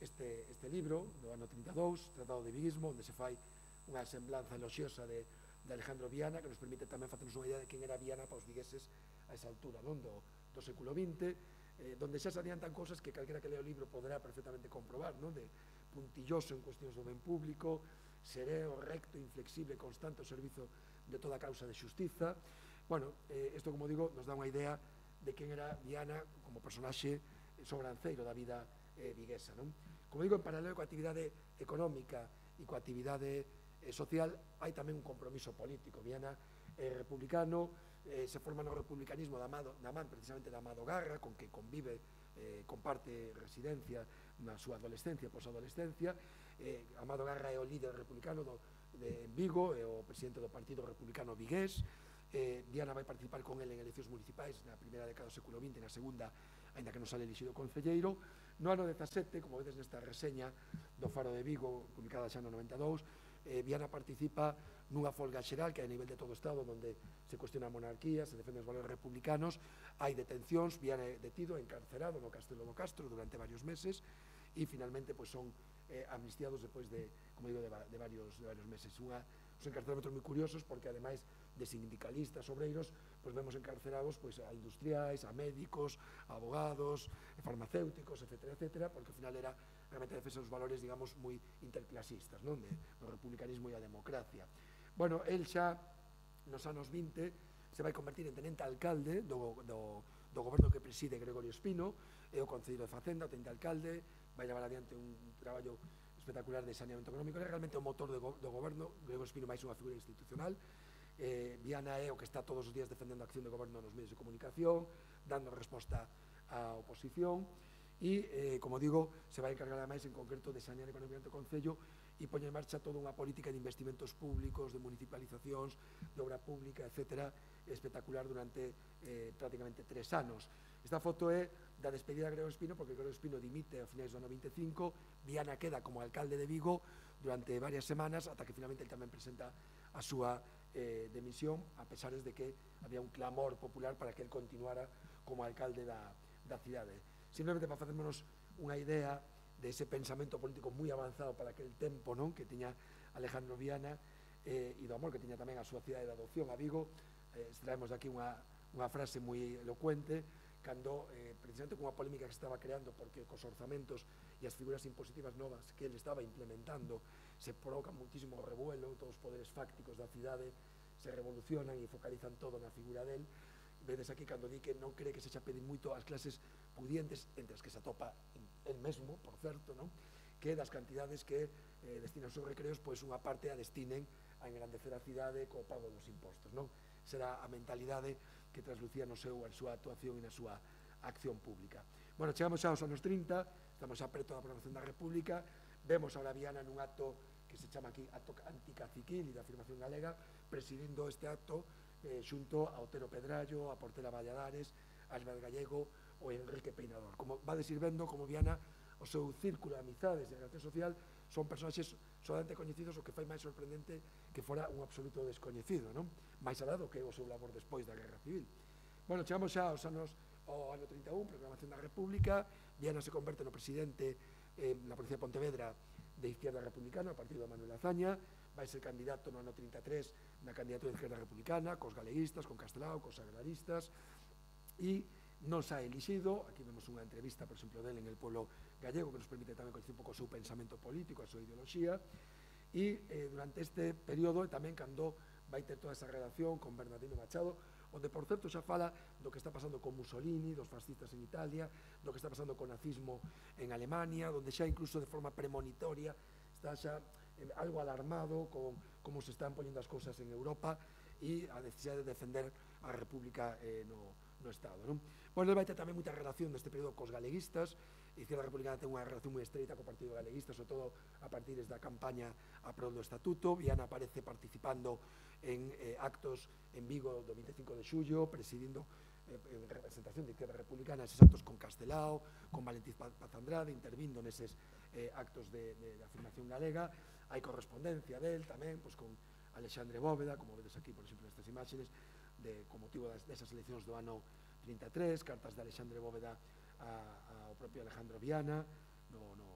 este, este libro do ano trinta e dous, Tratado de Viguismo, onde se fai unha semblanza eloxiosa de, de Alejandro Viana, que nos permite tamén facernos unha idea de quen era Viana para os vigueses a esa altura, non? Do, do século vinte, eh, donde xa se adiantan cousas que calquera que lea o libro poderá perfectamente comprobar, non? De puntilloso en cuestións do ben público, sereo, recto, inflexible, constante ao servizo de toda a causa de xustiza. Bueno, eh, isto, como digo, nos dá unha idea de quen era Viana como personaxe sobranceiro da vida eh, viguesa, non? Como digo, en paralelo coa actividade económica e coa actividade eh, social, hai tamén un compromiso político. Viana é republicano, eh, se forma no republicanismo da, Amado, da man precisamente da Amado Garra, con que convive, eh, comparte residencia na súa adolescencia, posadolescencia. eh, Amado Garra é o líder republicano do, de Vigo, é o presidente do Partido Republicano Vigués. eh, Viana vai participar con ele en eleccións municipais na primeira década do século vinte, na segunda, aínda que non sale elixido concelleiro. No ano dezasete, como vedes nesta reseña do Faro de Vigo, publicada xa no noventa e dous, eh, Viana participa nunha folga xeral que é a nivel de todo o Estado, onde se cuestiona a monarquía, se defenden os valores republicanos, hai detencións. Viana é detido, encarcerado no Castelo do Castro durante varios meses e finalmente pois, son eh, amnistiados depois de, como digo, de, de, varios, de varios meses. Unha, os encarcelamentos moi curiosos porque ademais de sindicalistas, obreiros, pois vemos encarcerados pois, a industriais, a médicos, a abogados, a farmacéuticos, etcétera, etcétera, porque ao final era realmente a defensa dos valores, digamos, moi interclasistas, non? De, do republicanismo e a democracia. Bueno, el xa nos anos vinte se vai convertir en tenente alcalde do, do, do goberno que preside Gregorio Espino, é o concelleiro de Facenda, o tenente alcalde, vai levar adiante un traballo espectacular de saneamento económico, é realmente o motor do, do goberno. Gregorio Espino máis unha figura institucional. eh, Viana é o que está todos os días defendendo a acción de goberno nos medios de comunicación, dando resposta á oposición e, eh, como digo, se vai encargar ademais en concreto de sanear económicamente o Concello e poñer en marcha toda unha política de investimentos públicos, de municipalizacións, de obra pública, etcétera, espectacular durante eh, prácticamente tres anos. Esta foto é da despedida de Gregorio Espino, porque Gregorio Espino dimite a finais do ano vinte e cinco, Viana queda como alcalde de Vigo durante varias semanas, ata que finalmente el tamén presenta a súa eh, demisión, a pesares de que había un clamor popular para que el continuara como alcalde da, da cidade. Simplemente para facernos unha idea de ese pensamento político moi avanzado para aquel tempo, non? Que tiña Alejandro Viana eh, e do amor que tiña tamén a súa cidade de adopción, a Vigo. Eh, extraemos de aquí unha, unha frase moi elocuente, cando eh, precisamente con unha polémica que se estaba creando porque cos orzamentos e as figuras impositivas novas que ele estaba implementando se provoca muitísimo revuelo, todos os poderes fácticos da cidade se revolucionan e focalizan todo na figura del. Vedes aquí cando di que non cree que se xa pedir moito ás clases pudientes, entre as que se atopa el mesmo, por certo, non? Que das cantidades que eh, destinan os seus recreos, pois unha parte a destinen a engrandecer a cidade co pago dos impostos, non? Será a mentalidade que traslucía no seu, a súa actuación e na súa acción pública. Bueno, chegamos xa aos anos trinta, estamos xa preto da proclamación da República, vemos a Viana nun acto que se chama aquí acto anticaciquil e de afirmación galega, presidindo este acto eh, xunto a Otero Pedrallo, a Portela Valladares, a Álvaro Gallego ou Enrique Peinador. Como vades ir vendo, como Viana, o seu círculo de amizades e de relación social son personaxes solamente coñecidos, o que fai máis sorprendente que fora un absoluto descoñecido, non? Máis alá do que o seu labor despois da Guerra Civil. Bueno, chegamos xa aos anos, ao ano trinta e un, proclamación da República, Viana se converte no presidente eh, na provincia de Pontevedra de Izquierda Republicana, o partido de Manuel Azaña, vai ser candidato no ano trinta e tres na candidatura de Izquierda Republicana, cos galeguistas, con Castelao, cos agraristas, e non xa elixido. Aquí vemos unha entrevista, por exemplo, dele en El Pueblo Gallego, que nos permite tamén conocer un pouco o seu pensamento político, a súa ideoloxía, e eh, durante este período tamén cando vai ter toda esa relación con Bernardino Machado, onde, por certo, xa fala do que está pasando con Mussolini, dos fascistas en Italia, do que está pasando con nazismo en Alemania, onde xa incluso de forma premonitoria está xa eh, algo alarmado con como se están poñendo as cousas en Europa e a necesidade de defender a República eh, no, no Estado, non? Bueno, vai ter tamén moita relación neste período cos galeguistas. A Izquierda Republicana ten unha relación moi estreita co Partido Galeguista, sobre todo a partir da campaña a prol do Estatuto. Viana aparece participando en eh, actos en Vigo do vinte e cinco de xullo, presidindo eh, en representación de Izquierda Republicana eses actos con Castelao, con Valentín Paz Andrade, intervindo neses eh, actos de, de, de afirmación galega. Hai correspondencia del tamén, pois, con Alexandre Bóveda, como vedes aquí, por exemplo, nestas imaxes, de, con motivo das, desas eleccións do ano trinta e tres, cartas de Alexandre Bóveda a, ao propio Alejandro Viana no, no,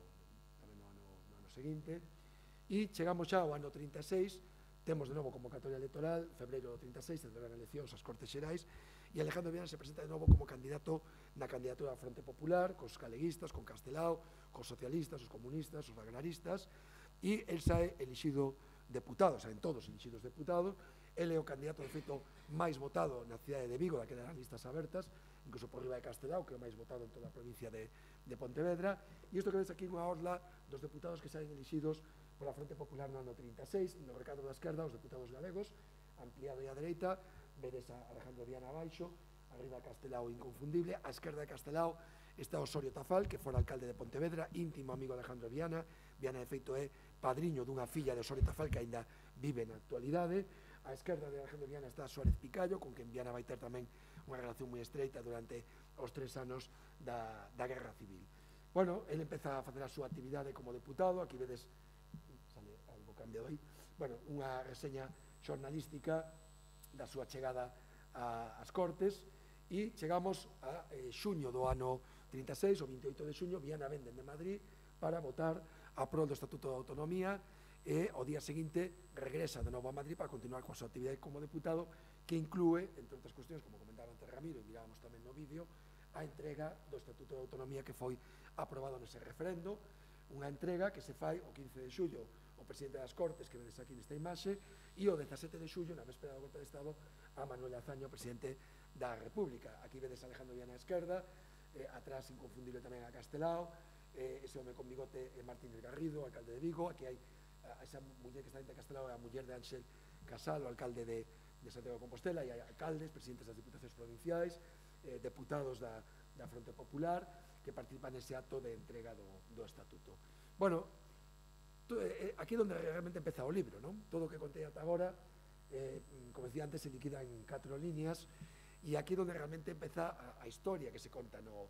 tamén no, no, no ano seguinte, e chegamos xa ao ano trinta e seis. Temos de novo convocatoria electoral, febreiro do trinta e seis, celebran eleccións ás Cortes Xerais, e Alejandro Viana se presenta de novo como candidato na candidatura da Fronte Popular, cos galeguistas, con Castelao, cos socialistas, os comunistas, os agraristas, e el sae elixido deputado, saen todos elixidos deputados. El é o candidato, de feito, máis votado na cidade de Vigo, daquelas listas abertas, incluso por riba de Castelao, que é o máis votado en toda a provincia de, de Pontevedra. E isto que ves aquí unha orla dos deputados que saen elixidos pola Fronte Popular no ano trinta e seis, no recadro da esquerda, os deputados galegos, ampliado e a dereita, vedes a Alejandro Viana abaixo, arriba Castelao inconfundible, a esquerda de Castelao está Osorio Tafal, que fora alcalde de Pontevedra, íntimo amigo de Alejandro Viana. Viana, de feito, é padriño dunha filla de Osorio Tafal que aínda vive na actualidade. A esquerda de Alejandro Viana está Suárez Picallo, con quen Viana vai ter tamén unha relación moi estreita durante os tres anos da, da Guerra Civil. Bueno, ele empeza a facer a súa actividade como deputado. Aquí vedes, sale algo cambiado aí, bueno, unha reseña xornalística da súa chegada a, ás Cortes, e chegamos a eh, xuño do ano trinta e seis, o vinte e oito de xuño, Viana vende de Madrid para votar a prol do Estatuto de Autonomía, e o día seguinte regresa de novo a Madrid para continuar coa súa actividade como deputado, que inclúe, entre outras cuestións, como comentaba antes Ramiro, e mirábamos tamén no vídeo, a entrega do Estatuto de Autonomía que foi aprobado nese referendo, unha entrega que se fai o quince de xullo o presidente das Cortes, que vedes aquí nesta imaxe, e o dezasete de xullo, na véspera do golpe de Estado, a Manuel Azaña, o presidente da República. Aquí vedes a Alejandro Viana á esquerda, eh, atrás inconfundible tamén a Castelao, eh, ese home con bigote é Martínez Garrido, alcalde de Vigo. Aquí hai a esa muller que está dentro de Castelao, é a muller de Ángel Casal, o alcalde de, de Santiago de Compostela, e hai alcaldes, presidentes das diputacións provinciais, eh, deputados da, da Fronte Popular, que participan nese acto de entrega do, do Estatuto. Bueno, to, eh, aquí é onde realmente empeza o libro, non? Todo o que contei ata agora, eh, como decía antes, se liquida en catro líneas, e aquí é onde realmente empeza a, a historia que se conta no,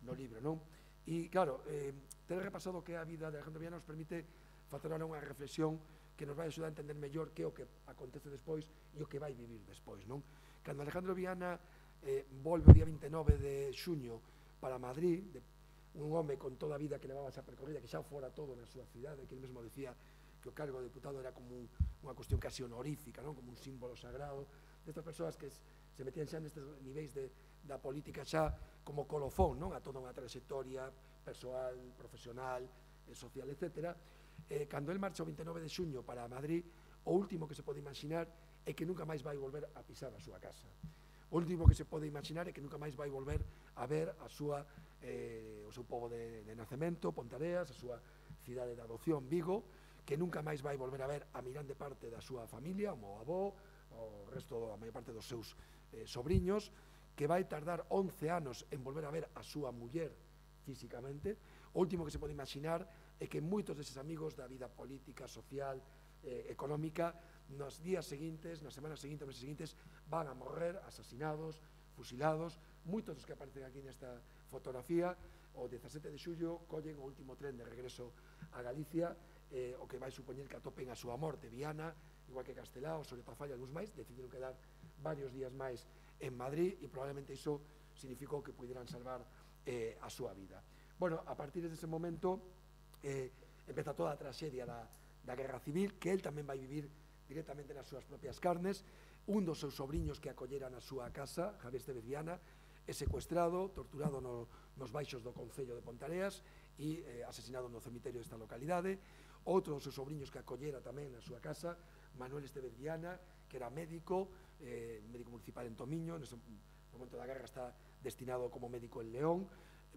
no libro, non? E, claro, eh, ter repasado que a vida de Alejandro Viana nos permite facer ahora unha reflexión que nos vai axudar a entender mellor que é o que acontece despois e o que vai vivir despois, non? Cando Alejandro Viana eh, volve o día vinte e nove de xuño para Madrid, de, un home con toda a vida que levaba esa percorrida, que xa fora todo na súa cidade, que ele mesmo decía que o cargo de deputado era como un, unha cuestión casi honorífica, non? Como un símbolo sagrado, destas persoas que se metían xa nestes niveis de, da política xa como colofón, non? A toda unha trayectoria persoal, profesional, eh, social, etcétera. Eh, cando el marcha o vinte e nove de xuño para Madrid, o último que se pode imaginar é que nunca máis vai volver a pisar a súa casa. O último que se pode imaginar é que nunca máis vai volver a ver a súa, eh, o seu pobo de, de nacemento, Pontareas, a súa cidade de adopción, Vigo, que nunca máis vai volver a ver a mirande parte da súa familia, o meu avó, o resto, a maior parte dos seus eh, sobriños, que vai tardar once anos en volver a ver a súa muller físicamente. O último que se pode imaginar é que moitos deses amigos da vida política, social, eh, económica, nos días seguintes, nas semanas seguintes, nos meses seguintes, van a morrer asasinados, fusilados. Moitos dos que aparecen aquí nesta fotografía, o dezasete de xullo, collen o último tren de regreso a Galicia, eh, o que vai supoñer que atopen a súa morte. Viana, igual que Castelao, Osorio Tafal e algúns máis, decidiron quedar varios días máis en Madrid, e probablemente iso significou que puderan salvar eh, a súa vida. Bueno, a partir dese momento eh, empeza toda a traxedia da, da Guerra Civil, que él tamén vai vivir directamente nas súas propias carnes. Un dos seus sobrinhos que acollera na súa casa, Javier Estévez Viana, é secuestrado, torturado no, nos baixos do Concello de Pontareas e eh, asesinado no cemiterio desta localidade. Outro dos seus sobrinhos que acollera tamén na súa casa, Manuel Estévez Viana, que era médico, eh, médico municipal en Tomiño, nese momento da guerra está destinado como médico en León,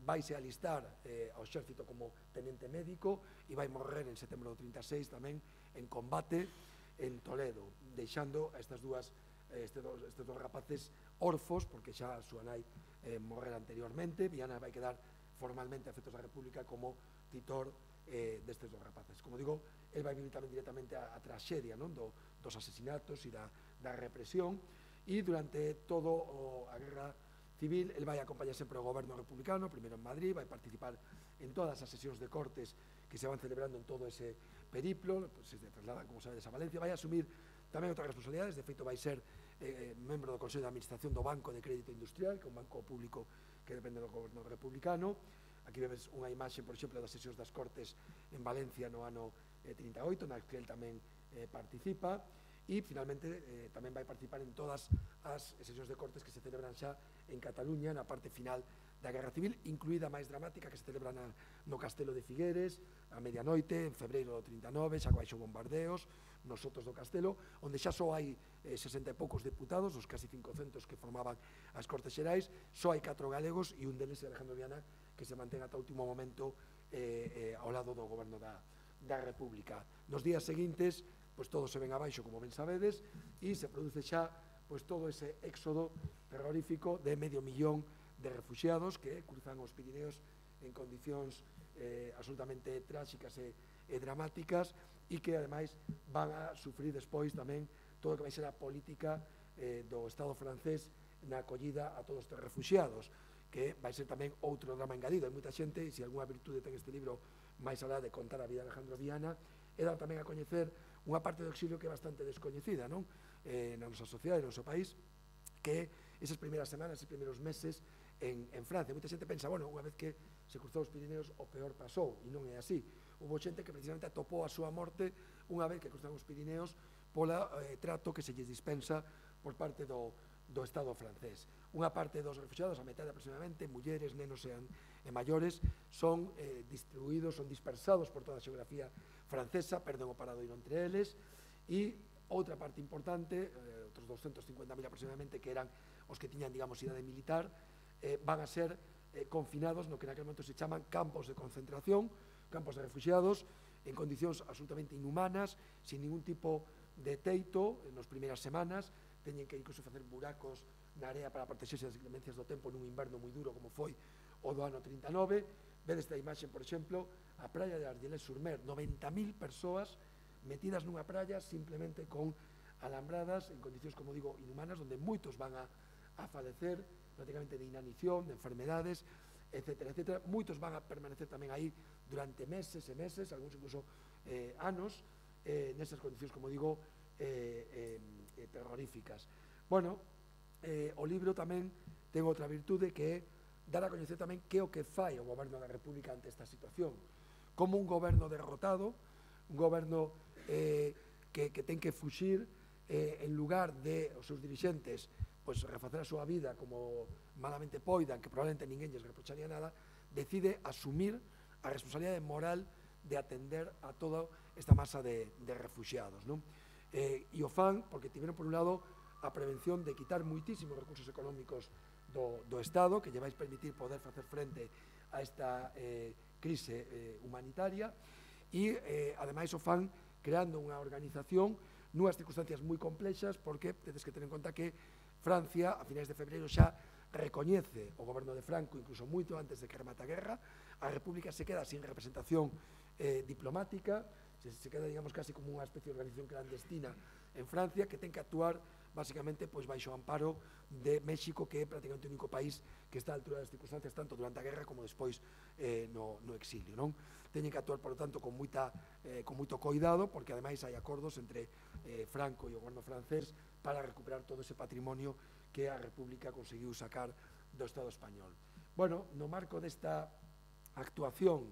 vaise alistar eh, ao exército como tenente médico e vai morrer en setembro do trinta e seis tamén en combate en Toledo, deixando a estas dúas, eh, estes, dos, estes dos rapaces orfos, porque xa a súa nai eh, morrera anteriormente. Viana vai quedar formalmente a efectos da República como titor eh, destes dos rapaces. Como digo, el vai vivir tamén directamente a, a traxedia, non? Do, dos asesinatos e da, da represión, e durante todo o, a guerra civil el vai acompañar sempre o goberno republicano, primeiro en Madrid, vai participar en todas as sesións de cortes que se van celebrando en todo ese periplo, pues, se trasladan, como sabedes, a Valencia, vai asumir tamén outras responsabilidades. De feito vai ser eh, membro do Consello de Administración do Banco de Crédito Industrial, que é un banco público que depende do goberno republicano. Aquí vedes unha imaxe, por exemplo, das sesións das Cortes en Valencia no ano eh, trinta e oito, na que el tamén eh, participa, e finalmente eh, tamén vai participar en todas as sesións de Cortes que se celebran xa en Cataluña na parte final da Guerra Civil, incluída a máis dramática que se celebra na, no Castelo de Figueres a medianoite, en febreiro do trinta e nove, xa baixo bombardeos nos sotos do Castelo, onde xa só hai eh, sesenta e poucos deputados, os casi cincocentos que formaban as Cortes Xerais, só hai catro galegos e un deles é Alejandro Viana, que se mantén ata o último momento eh, eh, ao lado do goberno da, da República. Nos días seguintes, pois todo se ven abaixo, como ben sabedes, e se produce xa pois todo ese éxodo terrorífico de medio millón de refugiados que cruzan os Pirineos en condicións eh, absolutamente tráxicas e, e dramáticas, e que ademais van a sufrir despois tamén todo o que vai ser a política eh, do Estado francés na acollida a todos estes refugiados, que vai ser tamén outro drama engadido. Hai moita xente, e se algunha virtude ten este libro máis alá de contar a vida de Alejandro Viana, é dar tamén a coñecer unha parte do exilio que é bastante descoñecida, non? Eh, na nosa sociedade, no noso país, que esas primeiras semanas, esos primeiros meses en, en Francia. Moita xente pensa, bueno, unha vez que se cruzou os Pirineos, o peor pasou, e non é así. Houve xente que precisamente atopou a súa morte unha vez que cruzaron os Pirineos pola eh, trato que se lles dispensa por parte do, do Estado francés. Unha parte dos refugiados, a metade aproximadamente, mulleres, nenos e, e maiores, son eh, distribuídos, son dispersados por toda a xeografía francesa, perden o paradoiro entre eles, e outra parte importante, eh, outros doscientos cincuenta mil aproximadamente, que eran os que tiñan, digamos, idade militar, eh, van a ser eh, confinados no que naquele momento se chaman campos de concentración, campos de refugiados, en condicións absolutamente inhumanas, sin ningún tipo de teito, en as primeiras semanas, teñen que incluso facer buracos na area para protexerse das inclemencias do tempo nun inverno moi duro como foi o do ano trinta e nove. Vedes esta imaxe, por exemplo, a praia de Argelès-sur-Mer, noventa mil persoas metidas nunha praia simplemente con alambradas en condicións, como digo, inhumanas, onde moitos van a, a falecer prácticamente de inanición, de enfermedades, etcétera, etcétera. Moitos van a permanecer tamén aí durante meses e meses, algúns incluso eh, anos, eh, nesas condicións, como digo, eh, eh, eh, terroríficas. Bueno, eh, o libro tamén ten outra virtude, que é dar a coñecer tamén que o que fai o goberno da República ante esta situación. Como un goberno derrotado, un goberno eh, que, que ten que fuxir, eh, en lugar de os seus dirixentes pois, refacer a súa vida como malamente poidan, que probablemente ninguén lles reprocharía nada, decide asumir a responsabilidade moral de atender a toda esta masa de, de refugiados, non? Eh, e o fan porque tiveron, por un lado, a prevención de quitar moitísimos recursos económicos do, do Estado, que lle vais permitir poder facer frente a esta eh, crise eh, humanitaria, e, eh, ademais, o fan creando unha organización nunhas circunstancias moi complexas, porque tedes que ter en conta que Francia, a finais de febreiro, xa recoñece o goberno de Franco, incluso moito antes de que remate a guerra. A República se queda sin representación eh, diplomática, se, se queda, digamos, casi como unha especie de organización clandestina en Francia, que ten que actuar basicamente pois baixo o amparo de México, que é prácticamente o único país que está a altura das circunstancias tanto durante a guerra como despois eh, no, no exilio, non? Teñen que actuar, por lo tanto, con, moita, eh, con moito coidado, porque ademais hai acordos entre eh, Franco e o goberno francés para recuperar todo ese patrimonio que a República conseguiu sacar do Estado español. Bueno, no marco desta actuación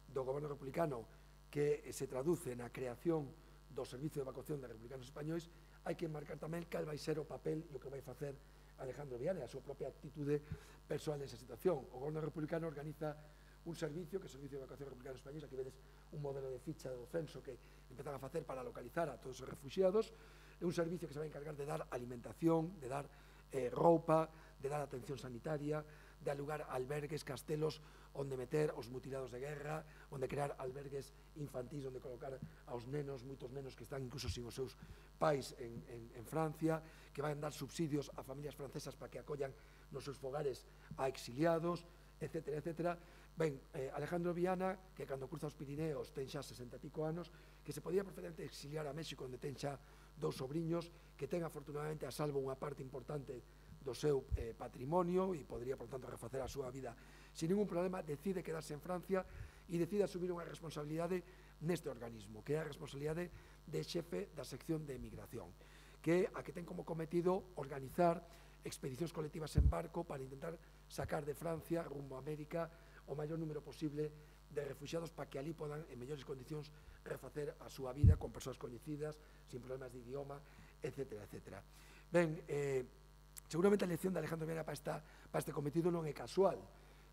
do goberno republicano que se traduce na creación do Servicio de Evacuación de Republicanos Españois, hai que marcar tamén cal vai ser o papel e o que vai facer Alejandro Viana e a súa propia actitude persoal nesa situación. O goberno republicano organiza un servicio, que é o Servicio de Evacuación Republicano Españois, aquí vedes un modelo de ficha do censo que empezan a facer para localizar a todos os refugiados. É un servicio que se vai encargar de dar alimentación, de dar eh, roupa, de dar atención sanitaria, de alugar albergues, castelos onde meter os mutilados de guerra, onde crear albergues infantís, onde colocar aos nenos, moitos nenos que están incluso sin os seus pais en, en, en Francia, que van dar subsidios a familias francesas para que acollan nos seus fogares a exiliados, etcétera, etcétera. Ben, eh, Alejandro Viana, que cando cruza os Pirineos ten xa sesenta e pico anos, que se podía perfectamente exiliar a México, onde ten xa dous sobriños, que ten afortunadamente a salvo unha parte importante do seu eh, patrimonio e podría, por tanto, refacer a súa vida sin ningún problema, decide quedarse en Francia e decide asumir unha responsabilidade neste organismo, que é a responsabilidade de xefe da sección de emigración, que a que ten como cometido organizar expedicións colectivas en barco para intentar sacar de Francia rumbo a América o maior número posible de refugiados para que ali podan, en mellores condicións, refacer a súa vida con persoas coñecidas, sin problemas de idioma, etcétera, etcétera. Ben, eh, seguramente a elección de Alejandro Viana para, esta, para este cometido non é casual.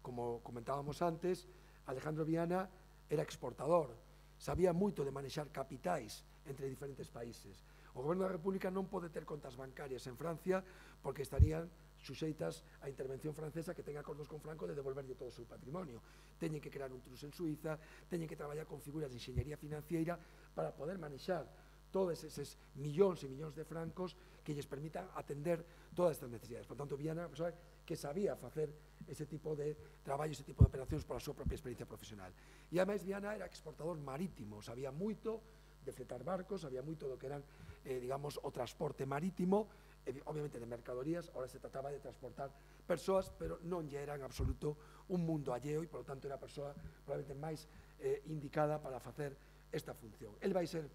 Como comentábamos antes, Alejandro Viana era exportador, sabía moito de manexar capitais entre diferentes países. O goberno da República non pode ter contas bancarias en Francia porque estarían suxeitas á intervención francesa, que ten acordos con Franco de devolverlle todo o seu patrimonio. Teñen que crear un trust en Suiza, teñen que traballar con figuras de enxeñería financiera para poder manexar todos eses millóns e millóns de francos que lles permitan atender todas estas necesidades. Por tanto, Viana, persoa que sabía facer ese tipo de traballo, ese tipo de operacións pola súa propia experiencia profesional. E ademais, Viana era exportador marítimo, sabía moito de fletar barcos, sabía moito do que eran, eh, digamos, o transporte marítimo, eh, obviamente de mercadorías. Ahora se trataba de transportar persoas, pero non lle era en absoluto un mundo alleo e, por lo tanto, era a persoa probablemente máis eh, indicada para facer esta función. El vai ser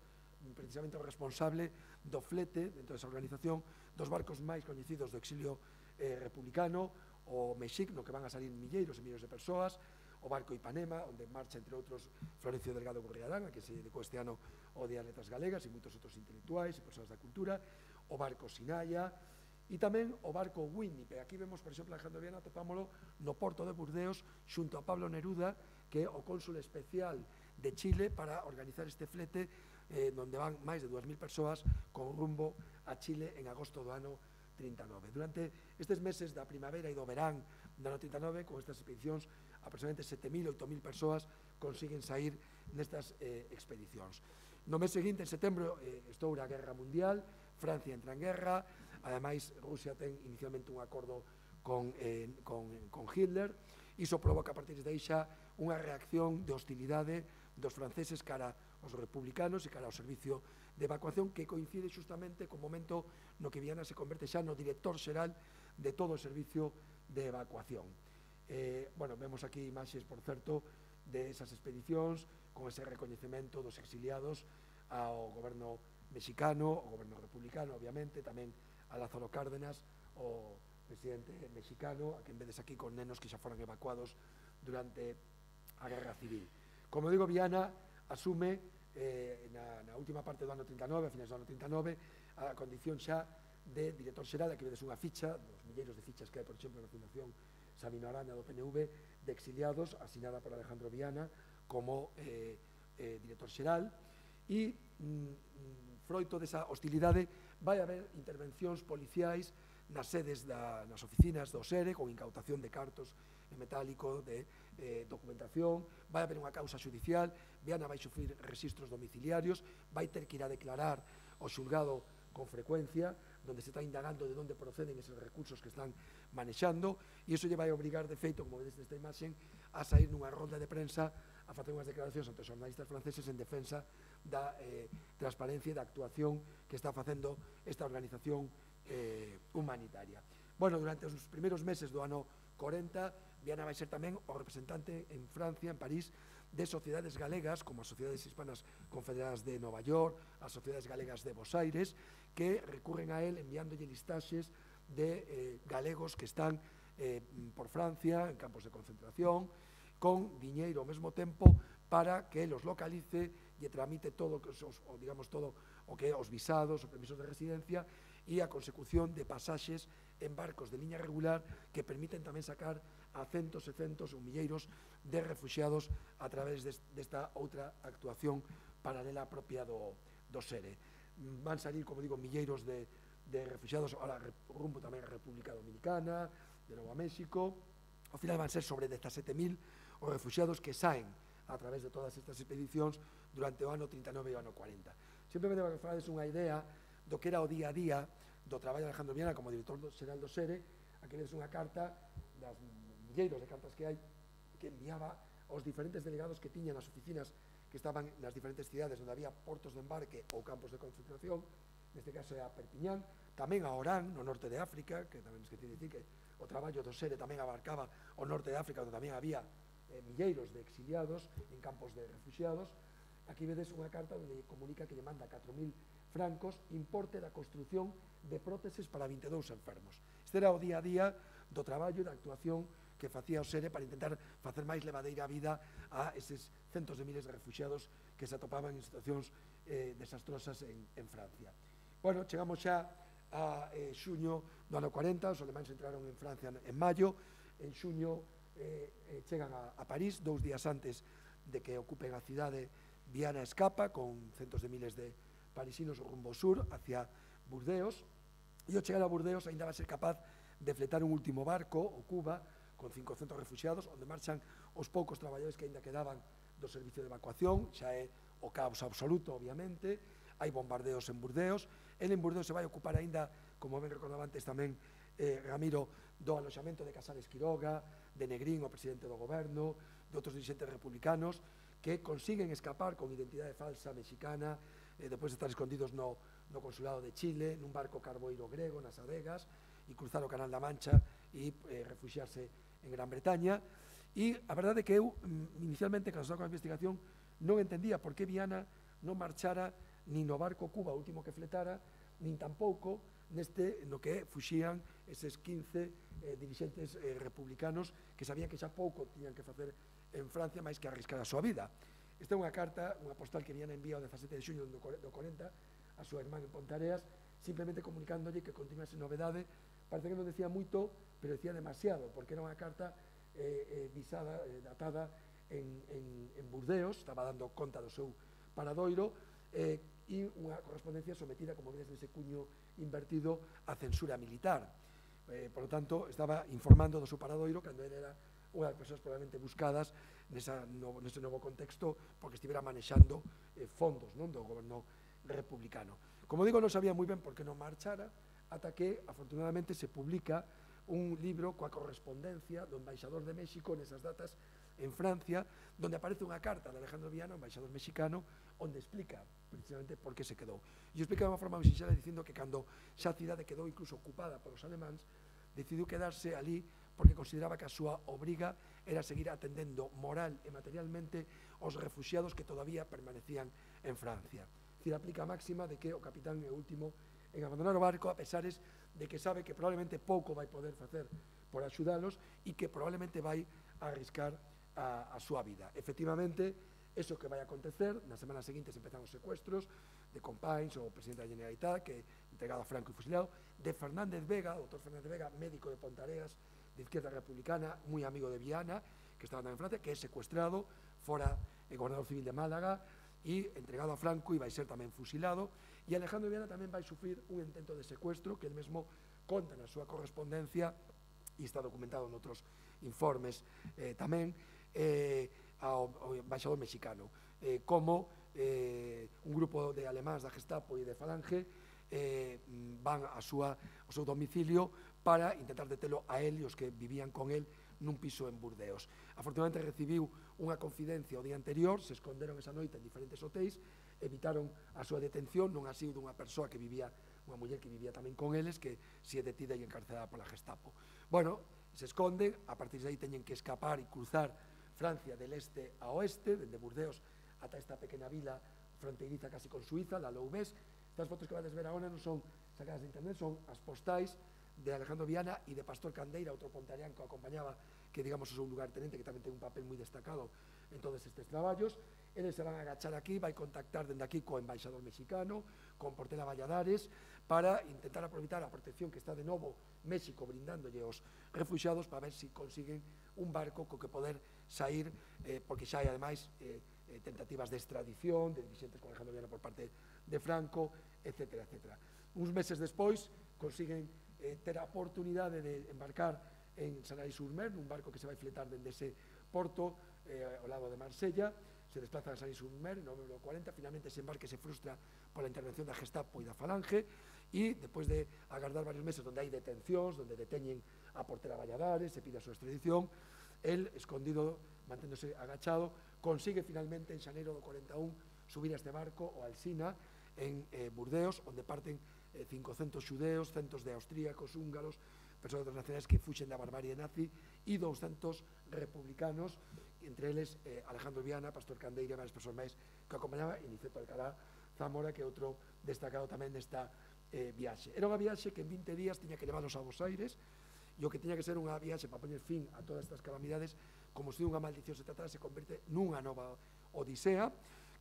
precisamente o responsable do flete dentro desa organización dos barcos máis coñecidos do exilio eh, republicano, o Mexic, no que van a salir milleiros e milleiros de persoas, o barco Ipanema, onde marcha, entre outros, Florencio Delgado Gurriarán, a que se dedicou este ano ao Día de Letras Galegas, e moitos outros intelectuais e persoas da cultura, o barco Sinaya, e tamén o barco Winnipeg. Aquí vemos, por exemplo, Alejandro Viana, topámolo no porto de Burdeos, xunto a Pablo Neruda, que é o cónsul especial de Chile para organizar este flete, eh, onde van máis de dúas mil persoas con rumbo a Chile en agosto do ano trinta e nove. Durante estes meses da primavera e do verán do ano trinta e nove, con estas expedicións, aproximadamente sete mil, oito mil persoas consiguen sair nestas eh, expedicións. No mes seguinte, en setembro, eh, estoura a Guerra Mundial, Francia entra en guerra, ademais Rusia ten inicialmente un acordo con, eh, con, con Hitler, iso provoca a partir de aí xa unha reacción de hostilidade dos franceses cara aos republicanos e cara ao servicio de evacuación, que coincide xustamente co momento no que Viana se converte xa no director xeral de todo o servicio de evacuación. Eh, bueno, vemos aquí imaxes, por certo, de esas expedicións, con ese recoñecemento dos exiliados ao goberno mexicano, ao goberno republicano, obviamente, tamén a Lázaro Cárdenas, o presidente mexicano, a quen vedes aquí con nenos que xa foran evacuados durante a Guerra Civil. Como digo, Viana asume eh, na, na última parte do ano trinta e nove, a finais do ano trinta e nove, a condición xa de director xeral. Aquí vedes unha ficha, dos milleiros de fichas que hai, por exemplo, na Fundación Sabino Arana do P N V, de exiliados, asinada por Alejandro Viana como eh, eh, director xeral, e mm, froito desa hostilidade vai haber intervencións policiais nas sedes, da, nas oficinas do S E R E, con incautación de cartos en metálico, de eh, documentación, vai haber unha causa judicial, Viana vai sufrir registros domiciliarios, vai ter que ir a declarar ao xulgado con frecuencia, donde se está indagando de onde proceden esos recursos que están manexando, e iso lle vai obrigar, de feito, como vedes nesta imaxen, a sair nunha ronda de prensa a facer unhas declaracións ante os xornalistas franceses en defensa da eh, transparencia e da actuación que está facendo esta organización eh, humanitaria. Bueno, durante os primeiros meses do ano corenta, Viana vai ser tamén o representante en Francia, en París, de sociedades galegas, como as Sociedades Hispanas Confederadas de Nova York, as Sociedades Galegas de Bos Aires, que recurren a él enviándolle listaxes de eh, galegos que están eh, por Francia, en campos de concentración, con diñeiro ao mesmo tempo para que los localice e tramite todo o, digamos, todo o que é os visados, os permisos de residencia e a consecución de pasaxes en barcos de liña regular que permiten tamén sacar a centos e centos ou milleiros de refugiados a través desta outra actuación paralela propia do, do SERE. Van salir, como digo, milleiros de, de refugiados ahora rumbo tamén a República Dominicana, de Novo México. Ao final van ser sobre dezasete mil os refugiados que saen a través de todas estas expedicións durante o ano trinta e nove e o ano cuarenta. Simplemente para que falades unha idea do que era o día a día do traballo de Alejandro Viana como director xeral do SERE. Aquí vedes unha carta das milleiros de cartas que hai que enviaba aos diferentes delegados que tiñan as oficinas que estaban nas diferentes cidades onde había portos de embarque ou campos de concentración, neste caso é a Perpiñán, tamén a Orán, no norte de África, que tamén esqueci de dicir que o traballo do SERE tamén abarcaba o norte de África, onde tamén había eh, milleiros de exiliados en campos de refugiados. Aquí vedes unha carta onde comunica que lle manda catro mil francos importe da construción de próteses para vinte e dous enfermos. Este era o día a día do traballo e da actuación que facía o SERE para intentar facer máis levadeira a vida a eses centos de miles de refugiados que se atopaban en situacións eh, desastrosas en, en Francia. Bueno, chegamos xa a eh, xuño do ano cuarenta, os alemáns entraron en Francia en maio, en xuño eh, eh, chegan a, a París, dous días antes de que ocupen a cidade. Viana escapa con centos de miles de parisinos rumbo sur hacia Burdeos, e ao chegar a Burdeos ainda va ser capaz de fletar un último barco, o Cuba, con cincocentos refugiados, onde marchan os poucos traballadores que ainda quedaban do servicio de evacuación. Xa é o caos absoluto, obviamente, hai bombardeos en Burdeos. El en Burdeos se vai ocupar aínda, como ben recordaba antes tamén eh, Ramiro, do aloxamento de Casares Quiroga, de Negrín, o presidente do goberno, de outros dirigentes republicanos que consiguen escapar con identidade falsa mexicana, eh, depois de estar escondidos no, no consulado de Chile, nun barco carboeiro grego nas adegas, e cruzar o Canal da Mancha e eh, refugiarse en Gran Bretaña. E a verdade é que eu, inicialmente, cando estaba con a investigación, non entendía por que Viana non marchara nin no barco Cuba, o último que fletara, nin tampouco neste no que fuxían eses quince eh, dirigentes eh, republicanos que sabían que xa pouco tiñan que facer en Francia máis que arriscar a súa vida. Esta é unha carta, unha postal que Viana envía o dezasete de xuño do cuarenta a súa irmán en Pontareas, simplemente comunicándolle que continúa esa novedade. Parece que non decía moito, pero decía demasiado, porque era unha carta eh, eh, visada, eh, datada en, en, en Burdeos, estaba dando conta do seu paradoiro, eh, e unha correspondencia sometida, como vedes nese cuño invertido, a censura militar. Eh, por lo tanto, estaba informando do seu paradoiro cando ele era unha das persoas probablemente buscadas nesa novo, nese novo contexto, porque estivera manexando eh, fondos, non, do goberno republicano. Como digo, non sabía moi ben por que non marchara, ata que, afortunadamente, se publica un libro coa correspondencia do embaixador de México nesas datas en Francia, donde aparece unha carta de Alejandro Viana, embaixador mexicano, onde explica precisamente por que se quedou. E explica de unha forma moi sinxela dicindo que cando xa a cidade quedou incluso ocupada polos alemáns, decidiu quedarse ali porque consideraba que a súa obriga era seguir atendendo moral e materialmente aos refugiados que todavía permanecían en Francia. Es decir, aplica a máxima de que o capitán é o último en abandonar o barco, a pesares de que sabe que probablemente pouco vai poder facer por axudalos e que probablemente vai a arriscar a, a súa vida. Efectivamente, eso que vai a acontecer, na semana seguinte se empezan os secuestros de Companys, o presidente da Generalitat, que entregado a Franco e fusilado, de Fernández Vega, o doctor Fernández Vega, médico de Pontareas, de izquierda republicana, moi amigo de Viana, que estaba en Francia, que é secuestrado, fora el gobernador civil de Málaga, e entregado a Franco e vai ser tamén fusilado. E Alejandro Viana tamén vai sufrir un intento de secuestro que el mesmo conta na súa correspondencia e está documentado en outros informes eh, tamén eh, ao, ao embaixador mexicano, eh, como eh, un grupo de alemáns da Gestapo e de Falange eh, van a súa, ao seu domicilio para intentar detelo a él e os que vivían con él nun piso en Burdeos. Afortunadamente recibiu unha confidencia o día anterior, se esconderon esa noite en diferentes hotéis, evitaron a súa detención, non ha sido dunha persoa que vivía, unha muller que vivía tamén con eles, que si é detida e encarcelada pola Gestapo. Bueno, se esconden, a partir de aí teñen que escapar e cruzar Francia del este a oeste, dende Burdeos ata esta pequena vila fronteiriza casi con Suiza, la Loubès. Estas fotos que vades ver agora non son sacadas de internet, son as postais de Alejandro Viana e de Pastor Candeira, outro pontarián que o acompañaba, que digamos o seu lugartenente, que tamén ten un papel moi destacado en todos estes traballos. Eles se van a agachar aquí, vai contactar dende aquí co embaixador mexicano, con Portela Valladares, para intentar aproveitar a protección que está de novo México brindándolle aos refugiados para ver se consiguen un barco co que poder sair, eh, porque xa hai ademais eh, eh, tentativas de extradición, de dirigentes con Alejandro Viana por parte de Franco, etcétera, etcétera. Uns meses despois consiguen eh, ter a oportunidade de embarcar en Sanary-sur-Mer, nun barco que se vai fletar dende ese porto eh, ao lado de Marsella, se desplaza a Sanary-sur-Mer en novembro cuarenta, finalmente ese embarque se frustra pola intervención da Gestapo e da Falange, e despois de agardar varios meses onde hai detencións, onde deteñen a Portela Valladares, se pide a súa extradición, el, escondido, manténdose agachado, consigue finalmente en xaneiro do cuarenta e un subir a este barco, o Alsina, en eh, Burdeos, onde parten eh, cincocentos xudeos, centos de austríacos, húngaros, persoas internacionais que fuxen da barbarie nazi, e douscentos republicanos, entre eles eh, Alejandro Viana, Pastor Candeira e varias persoas máis que acompañaba, e Niceto Alcalá Zamora, que é outro destacado tamén nesta eh, viaxe. Era unha viaxe que en vinte días tiña que levalos a Buenos Aires, e o que tiña que ser unha viaxe para poñer fin a todas estas calamidades, como se unha maldición se tratara, se converte nunha nova odisea,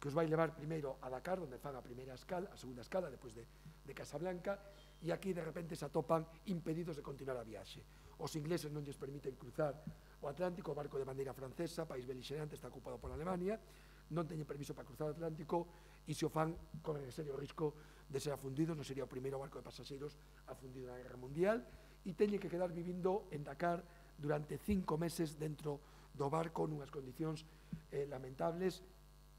que os vai levar primeiro a Dakar, onde fan a primeira escala, a segunda escala, depois de, de Casablanca, e aquí de repente se atopan impedidos de continuar a viaxe. Os ingleses non lles permiten cruzar o Atlántico, o barco de bandeira francesa, país beligerante, está ocupado por Alemania, non teñen permiso para cruzar o Atlántico, e se o fan, corren en serio risco de ser afundidos, non sería o primeiro barco de pasaxeiros afundido na Guerra Mundial, e teñen que quedar vivindo en Dakar durante cinco meses dentro do barco, nunhas condicións eh, lamentables,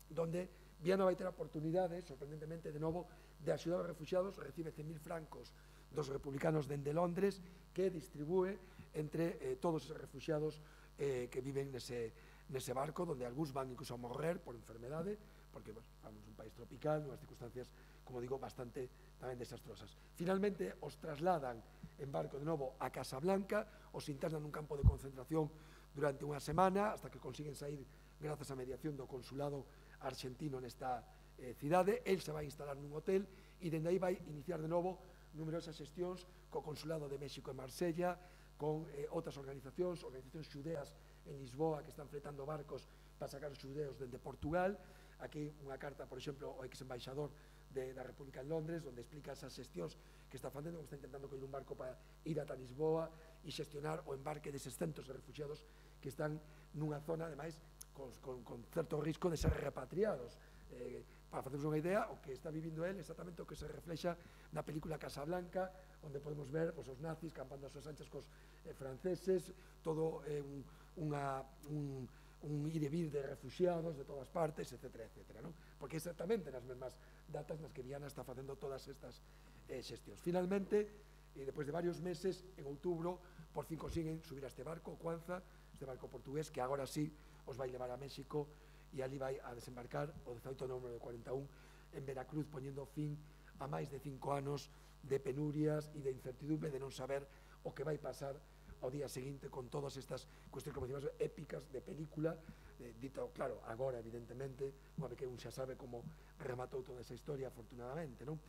donde Viana vai ter a oportunidade, sorprendentemente, de novo, de axudar aos refugiados, recibe cen mil francos dos republicanos dende Londres, que distribúe entre eh, todos os refugiados eh, que viven nese, nese barco, donde algúns van incluso a morrer por enfermedade, porque bueno, vamos un país tropical, nunhas circunstancias, como digo, bastante tamén desastrosas. Finalmente, os trasladan en barco de novo a Casablanca, os internan nun campo de concentración durante unha semana, hasta que consiguen sair grazas á mediación do consulado argentino nesta eh, cidade. El se vai instalar nun hotel e dende aí vai iniciar de novo numerosas xestións co Consulado de México en Marsella, con eh, outras organizacións, organizacións xudeas en Lisboa que están fletando barcos para sacar os xudeos dende Portugal. Aquí unha carta, por exemplo, ao ex-embaixador de, da República en Londres, onde explica esas xestións que está facendo, que está intentando coller un barco para ir ata Lisboa e xestionar o embarque deses centos de refugiados que están nunha zona, ademais, con, con, con certo risco de ser repatriados. Eh, para facernos unha idea, o que está vivindo él exactamente o que se reflexa na película Casablanca, onde podemos ver pues, os nazis campando as súas anchas cos eh, franceses, todo eh, un, unha, un, un ir e vir de refugiados de todas partes, etcétera, etcétera, ¿no? Porque exactamente nas mesmas datas nas que Viana está facendo todas estas eh, xestións. Finalmente, e despois de varios meses, en outubro, por fin consiguen subir a este barco, o Cuanza, este barco portugués, que agora sí os vai levar a México, e ali vai a desembarcar o dezaoito de novembro de cuarenta e un en Veracruz, poñendo fin a máis de cinco anos de penurias e de incertidumbre, de non saber o que vai pasar ao día seguinte con todas estas cuestións, como decimos, épicas de película, eh, dito, claro, agora, evidentemente, unha vez que un xa sabe como rematou toda esa historia, afortunadamente, non?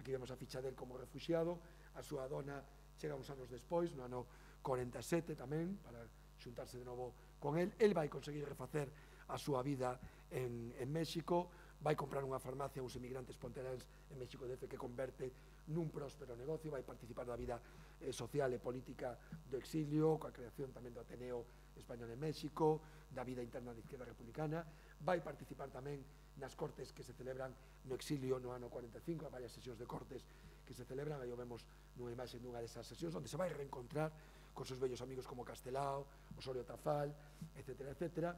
Aquí vemos a ficha del como refugiado, a súa dona chega uns anos despois, no ano cuarenta e sete tamén, para xuntarse de novo con el. El vai conseguir refacer a súa vida en, en México, vai comprar unha farmacia a uns emigrantes ponteráns en México D F que converte nun próspero negocio, vai participar da vida eh, social e política do exilio, coa creación tamén do Ateneo Español en México, da vida interna da izquierda republicana, vai participar tamén nas cortes que se celebran no exilio no ano cuarenta e cinco, a varias sesións de cortes que se celebran, aí o vemos nunha imaxe nunha desas sesións, onde se vai reencontrar con seus vellos amigos como Castelao, Osorio Tafal, etcétera, etcétera,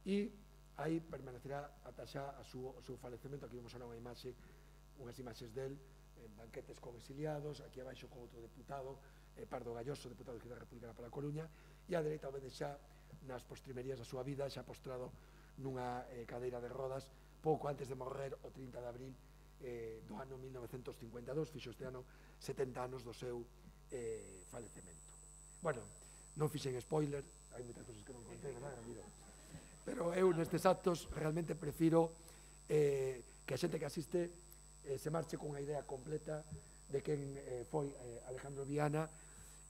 e aí permanecerá ata xa a súa, o seu falecemento. Aquí vemos ahora unha imaxe, unhas imaxes del, en banquetes con exiliados, aquí abaixo con outro deputado, eh, Pardo Galloso, deputado da República para a Coruña, e a dereita o vede xa nas postrimerías da súa vida, xa postrado nunha eh, cadeira de rodas, pouco antes de morrer o trinta de abril eh, do ano mil novecentos cincuenta e dous, fixo este ano setenta anos do seu eh, falecemento. Bueno, non fixen spoiler, hai moitas cosas que non contei, verdad, Ramiro? Pero eu nestes actos realmente prefiro eh, que a xente que asiste eh, se marche con unha idea completa de quen eh, foi eh, Alejandro Viana,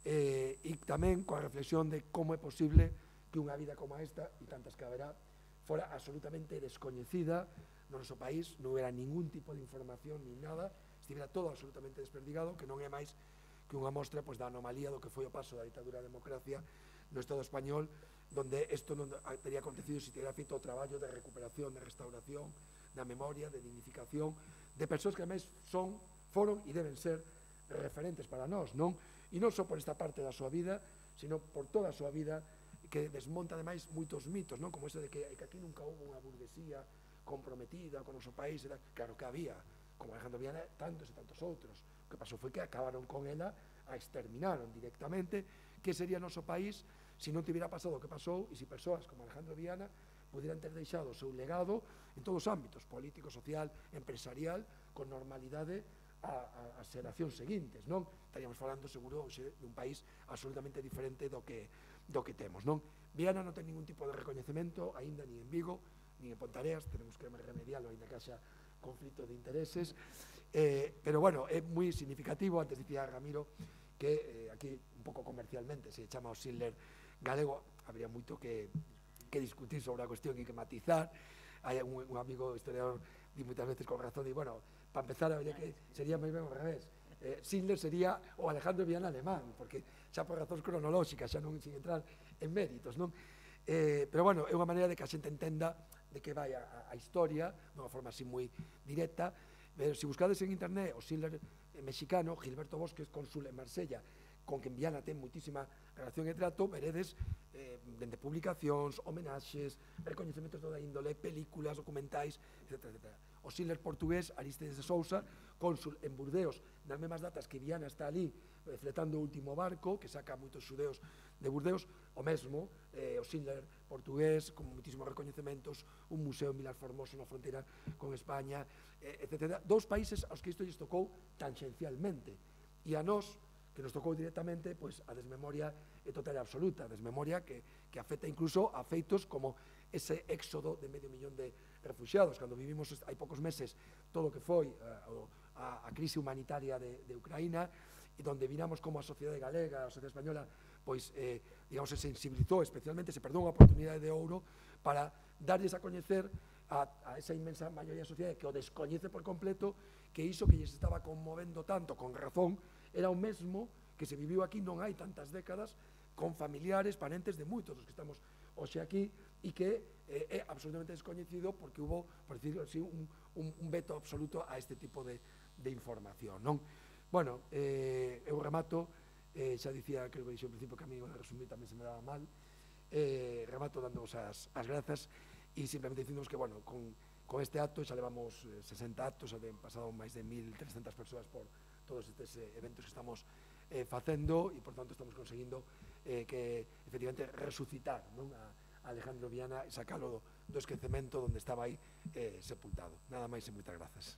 eh, e tamén coa reflexión de como é posible que unha vida como esta, e tantas que haberá, fora absolutamente descoñecida no noso país, non era ningún tipo de información ni nada, estivera todo absolutamente desperdigado, que non é máis que unha mostra pois, da anomalía do que foi o paso da ditadura á democracia no Estado español, donde isto non teria acontecido se tivera feito o traballo de recuperación, de restauración, da memoria, de dignificación, de persoas que ademais son, foron e deben ser referentes para nós, non? E non só por esta parte da súa vida, sino por toda a súa vida, que desmonta ademais moitos mitos, non? Como ese de que, que aquí nunca houve unha burguesía comprometida con o noso país, era, claro que había, como Alejandro Viana, tantos e tantos outros. O que pasou foi que acabaron con ela, a exterminaron directamente. Que sería o noso país se non tivera pasado o que pasou e se persoas como Alejandro Viana pudieran ter deixado o seu legado en todos os ámbitos, político, social, empresarial, con normalidade as xeracións seguintes, non? Estaríamos falando seguro hoxe dun país absolutamente diferente do que do que temos, non? Viana non ten ningún tipo de recoñecemento, aínda ni en Vigo, ni en Pontareas, tenemos que remediarlo, aínda que haxa conflito de intereses, eh, pero bueno, é moi significativo. Antes dicía Ramiro que eh, aquí un pouco comercialmente se chama o Schindler galego, habría moito que, que discutir sobre a cuestión e que matizar. Hai un, un amigo historiador di moitas veces con razón, e bueno, para empezar, habría que sería moi ben ao revés. Eh, Schindler sería o Alejandro Viana alemán, porque xa por razóns cronolóxicas, xa non sin entrar en méritos, non? Eh, pero bueno, é unha maneira de que a xente entenda de que vai a, a historia, dunha forma así moi directa. Pero se buscades en internet o Schindler mexicano, Gilberto Bosques, cónsul en Marsella, con quen Viana ten moitísima relación e trato, veredes eh, dende publicacións, homenaxes, recoñecementos de toda índole, películas, documentais, etcétera, etcétera. O Schindler portugués, Aristides de Sousa, cónsul en Burdeos, nas mesmas datas que Viana está ali eh, fletando o último barco, que saca moitos xudeos de Burdeos, o mesmo, eh, o Schindler portugués, con moitísimos recoñecementos, un museo en Vilar Formoso na fronteira con España, eh, etcétera. Dous países aos que isto lles tocou tangencialmente, e a nós, que nos tocou directamente, pois a desmemoria é total e absoluta, a desmemoria que, que afecta incluso a feitos como ese éxodo de medio millón de refugiados, cando vivimos hai poucos meses todo o que foi a, a, a crise humanitaria de, de Ucraína, e donde viramos como a sociedade galega, a sociedade española, pois, eh, digamos, se sensibilizou especialmente, se perdeu unha oportunidade de ouro para darlles a coñecer a, a esa inmensa maioría da sociedade que o descoñece por completo, que iso que lles estaba conmovendo tanto, con razón, era o mesmo que se viviu aquí non hai tantas décadas, con familiares, parentes de moitos dos que estamos hoxe aquí, e que eh, é absolutamente descoñecido porque hubo, por decirlo así, un, un, un veto absoluto a este tipo de, de información, non? Bueno, eh, eu remato, eh, xa dicía, creo que dixo ao principio que a mí o de resumir tamén se me daba mal, eh, remato dándoos as, as grazas e simplemente dicíndonos que, bueno, con, con este acto xa levamos eh, sesenta actos, xa han pasado máis de mil trescentas persoas por todos estes eh, eventos que estamos eh, facendo, e por tanto estamos conseguindo eh, que efectivamente resucitar, non, a, a Alejandro Viana e sacalo do, do esquecemento onde estaba aí eh, sepultado. Nada máis e moitas grazas.